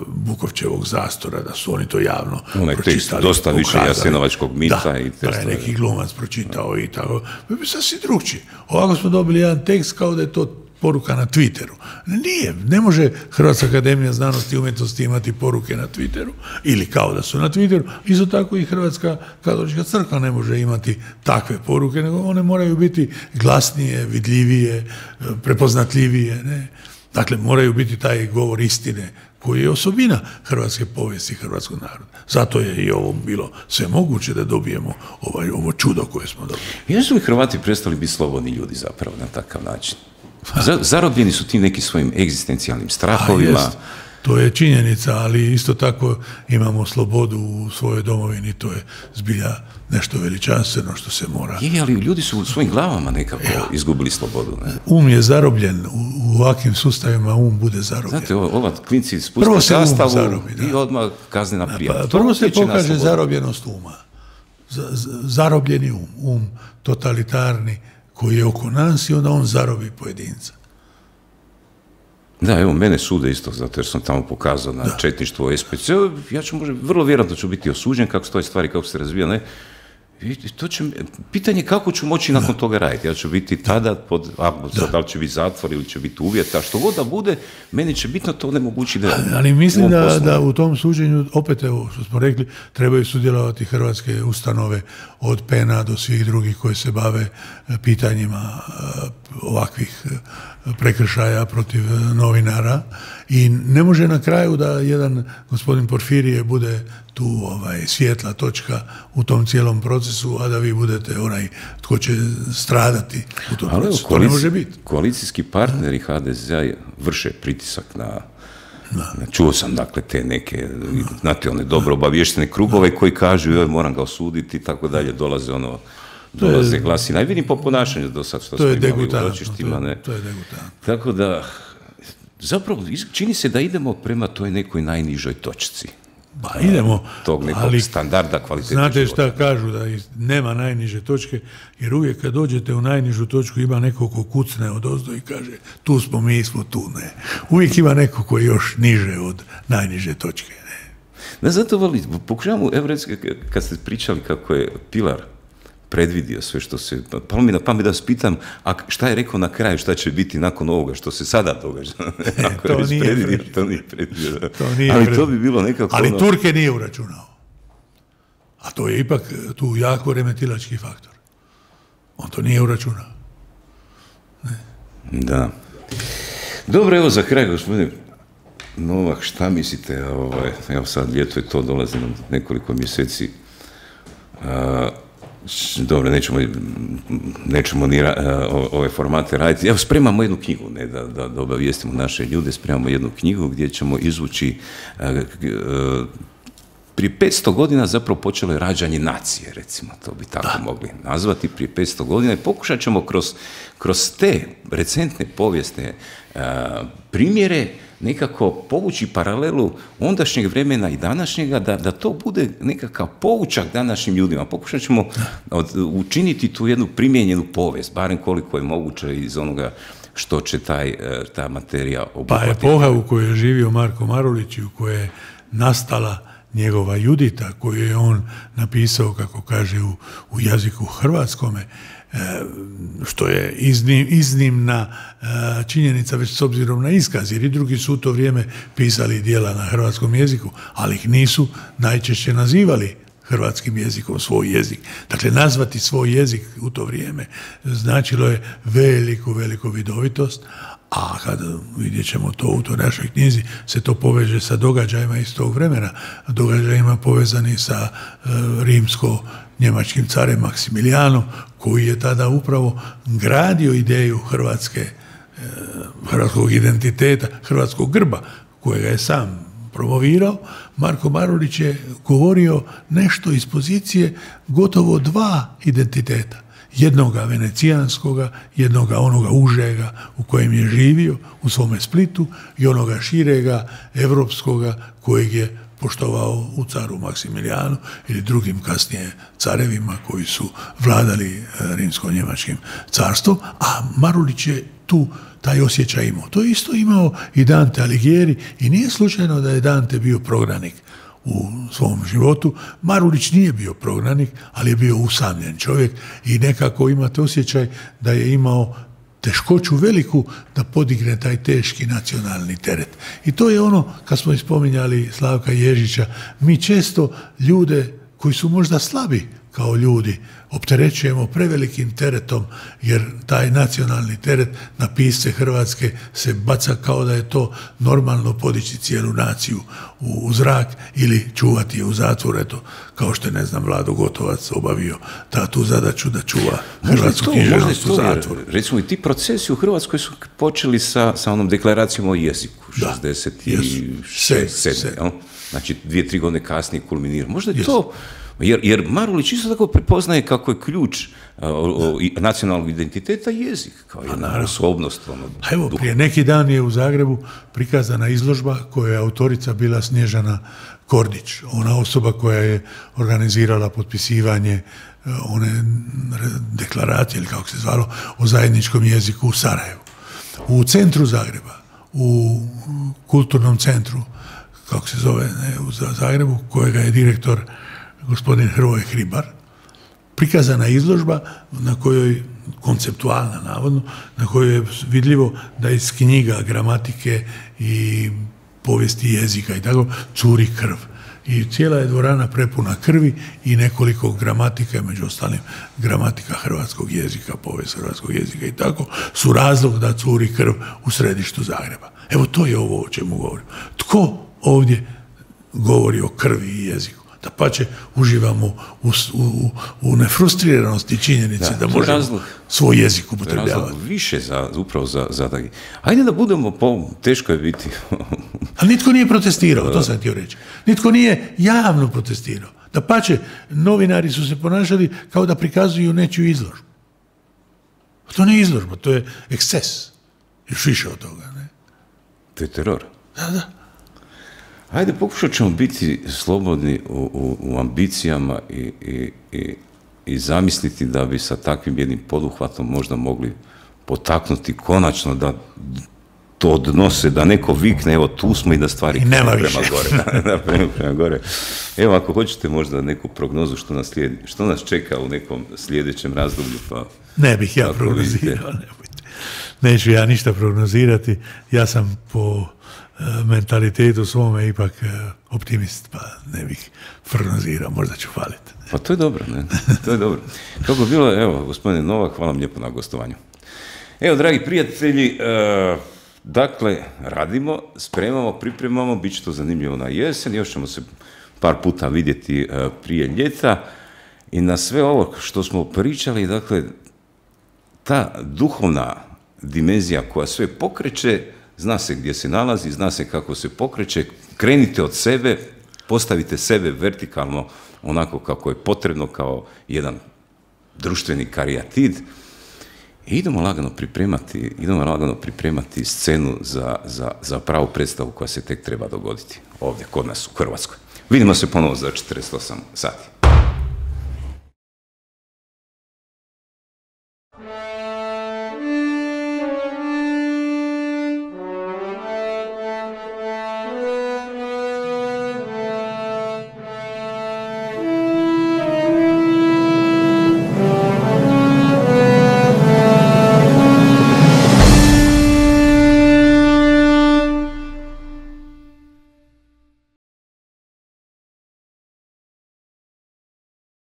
Bukovčevog zastora, da su oni to javno Onaj pročitali. Dosta više Jasenovačkog mita. Da, i da je neki glumac pročitao i tako. Bi sasvim drugčije. Ovako smo dobili jedan tekst kao da je to poruka na Twitteru. Nije, ne može Hrvatska akademija znanosti i umjetnosti imati poruke na Twitteru, ili kao da su na Twitteru, isto tako i Hrvatska katolička crkva ne može imati takve poruke, nego one moraju biti glasnije, vidljivije, prepoznatljivije, ne? Dakle, moraju biti taj govor istine, koji je osobina hrvatske povijesti hrvatskog naroda. Zato je i ovo bilo sve moguće da dobijemo ovaj, ovo čudo koje smo dobili. Jesu li Hrvati prestali biti slobodni ljudi zapravo na takav način? Zarobljeni su tim nekim svojim egzistencijalnim strahovima. Jest, to je činjenica, ali isto tako imamo slobodu u svojoj domovini, to je zbilja nešto veličanstveno što se mora. Je, ali ljudi su u svojim glavama nekako ja. izgubili slobodu. Ne? Um je zarobljen, u, u ovakvim sustavima um bude zarobljen. Znate, ova klinci spuste zastavu um zarobi, i odmah kaznena prijava. Pa, prvo se pokaže zarobljenost uma. Z, z, zarobljeni um, um totalitarni, koji je oko nas i onda on zarobi pojedinca. Da, evo, mene sude isto, zato jer sam tamo pokazao na da. četništvo S P C. Ja ću možda, vrlo vjerojatno ću biti osuđen kako stoje stvari, kako se razvija, ne? I to će, pitanje kako ću moći nakon da. toga raditi. Ja ću biti tada, pod, a, da. da li će biti zatvor ili će biti uvjeta, što god da bude, meni će bitno to onemogući da... Ali, ali mislim da, da u tom suđenju, opet evo što smo rekli, trebaju sudjelovati hrvatske ustanove od P E N-a do svih drugih koji se bave pitanjima ovakvih prekršaja protiv novinara i ne može na kraju da jedan gospodin Porfirije bude tu ovaj, svjetla točka u tom cijelom procesu, a da vi budete onaj tko će stradati u tom ali procesu. Koalici, to ne može biti. Koalicijski partneri H D Z-a vrše pritisak na... Da. Čuo sam dakle te neke, znate, one dobro obavještene krugove koji kažu joj moram ga osuditi i tako dalje, dolaze ono dolaze je, glasine. I vidim po ponašanju do sad što smo imali u ročištima. Ne. To je degutantno. Tako da, zapravo, čini se da idemo prema toj nekoj najnižoj točci. Ba, idemo, tog nekog ali standarda kvalitete znate života. šta kažu, da nema najniže točke, jer uvijek kad dođete u najnižu točku ima neko ko kucne odozdo i kaže tu smo, mi smo tu, ne. Uvijek ima neko koji je još niže od najniže točke, ne. Ne, zato, vali, pokušavamo, evo recimo, kad ste pričali kako je Pilar predvidio sve što se, pa mi na pamet da vas pitam, a šta je rekao na kraju, šta će biti nakon ovoga, što se sada događa? Ako to, je nije predvidio, to nije predvidio. To nije ali predvidio. To bi bilo nekako... Ali ono... Turke nije uračunao. A to je ipak tu jako remetilački faktor. On to nije uračunao. Ne. Da. Dobro, evo za kraj, gospodine Novak, šta mislite, ovaj, evo sad ljeto je to, dolazi nam nekoliko mjeseci, a, dobro, nećemo, nećemo ni ra, ove formate raditi. Evo, spremamo jednu knjigu, ne, da, da, da obavijestimo naše ljude, spremamo jednu knjigu gdje ćemo izvući a, a, prije petsto godina zapravo počelo je rađanje nacije, recimo, to bi tako da. mogli nazvati, prije petsto godina i pokušat ćemo kroz, kroz te recentne povijesne a, primjere nekako povući paralelu ondašnjeg vremena i današnjega, da, da to bude nekakav poučak današnjim ljudima. Pokušat ćemo od, učiniti tu jednu primijenjenu povijest, barem koliko je moguće iz onoga što će taj, ta materija obuhvatiti. Pa epoha u kojoj je živio Marko Marulić i u kojoj je nastala njegova Judita, koju je on napisao, kako kaže, u, u jeziku hrvatskome, što je iznim, iznimna činjenica već s obzirom na iskaz, jer i drugi su u to vrijeme pisali djela na hrvatskom jeziku, ali ih nisu najčešće nazivali hrvatskim jezikom svoj jezik. Dakle, nazvati svoj jezik u to vrijeme značilo je veliku, veliku vidovitost, a kad vidjet ćemo to u toj našoj knjizi, se to poveže sa događajima iz tog vremena, događajima povezani sa e, rimsko-njemačkim carem Maksimilijanom, koji je tada upravo gradio ideju Hrvatske, e, hrvatskog identiteta, hrvatskog grba, kojega je sam promovirao. Marko Marulić je govorio nešto iz pozicije gotovo dva identiteta. jednoga venecijanskoga, jednoga onoga užega u kojem je živio u svome Splitu i onoga širega evropskoga kojeg je poštovao u caru Maksimilijanu ili drugim kasnije carevima koji su vladali rimsko-njemačkim carstvom, a Marulić je tu taj osjećaj imao. To je isto imao i Dante Alighieri i nije slučajno da je Dante bio prognanik u svom životu. Marulić nije bio prognanik, ali je bio usamljen čovjek i nekako imate osjećaj da je imao teškoću veliku da podigne taj teški nacionalni teret. I to je ono, kad smo ispominjali Slavka Ježića, mi često ljude koji su možda slabi kao ljudi opterećujemo prevelikim teretom, jer taj nacionalni teret na pisce Hrvatske se baca kao da je to normalno podići cijelu naciju u, u zrak ili čuvati je u zatvor, eto, kao što je, ne znam, Vlado Gotovac obavio ta tu zadaću da čuva hrvatsku književnost u zatvoru. Recimo i ti procesi u Hrvatskoj su počeli sa, sa onom deklaracijom o jeziku, šezdeset sedme. Znači, dvije, tri godine kasnije kulminira. Možda je to... Jer, jer Marulić isto tako prepoznaje kako je ključ uh, o, o, nacionalnog identiteta jezik, kao jedna osobnost. Ono, A evo, prije neki dan je u Zagrebu prikazana izložba koja je autorica bila Snježana Kordić, ona osoba koja je organizirala potpisivanje uh, one deklaracije, ili kako se zvalo, o zajedničkom jeziku u Sarajevu. U centru Zagreba, u kulturnom centru, kako se zove, ne, u Zagrebu, kojega je direktor gospodin Hrvoje Hribar, prikazana izložba na kojoj, konceptualna navodno, na kojoj je vidljivo da iz knjiga gramatike i povijesti jezika i tako curi krv. I cijela je dvorana prepuna krvi i nekoliko gramatika, među ostalim gramatika hrvatskog jezika, povijest hrvatskog jezika i tako, su razlog da curi krv u središtu Zagreba. Evo, to je ovo o čemu govorim. Tko ovdje govori o krvi i jeziku? Da pače uživamo u, u, u nefrustriranosti činjenice da, da možemo razlog, svoj jezik upotrebljavati. Više za, upravo za, za da... Ajde da budemo, po, teško je biti. Ali nitko nije protestirao, to sam htio reći. Nitko nije javno protestirao. Da pače, novinari su se ponašali kao da prikazuju nečiju izložbu. To nije izložba, to je eksces. Još više od toga, ne? To je teror. Da, da. Ajde, pokušat ćemo biti slobodni u, u, u ambicijama i, i, i, i zamisliti da bi sa takvim jednim poduhvatom možda mogli potaknuti konačno da to odnose, da neko vikne, evo tu smo i da stvari prema gore. Da, da, prema, prema gore. Evo, ako hoćete možda neku prognozu što nas, slijedi, što nas čeka u nekom sljedećem razdoblju, pa... Ne bih ja prognozirao, ne neću ja ništa prognozirati, ja sam po mentalitetu svome ipak optimist, pa ne bih prognozirao, možda ću faliti. Pa to je dobro, ne? To je dobro. Kako je bilo, evo, gospodine Novak, hvala vam lijepo na gostovanju. Evo, dragi prijatelji, uh, dakle, radimo, spremamo, pripremamo, bit će to zanimljivo na jesen, još ćemo se par puta vidjeti uh, prije ljeta i na sve ovo što smo pričali, dakle, ta duhovna dimenzija koja sve pokreće, zna se gdje se nalazi, zna se kako se pokreće, krenite od sebe, postavite sebe vertikalno onako kako je potrebno, kao jedan društveni karijatid i idemo lagano pripremati, idemo lagano pripremati scenu za, za, za pravu predstavu koja se tek treba dogoditi ovdje kod nas u Hrvatskoj. Vidimo se ponovo za četrdeset osam sati.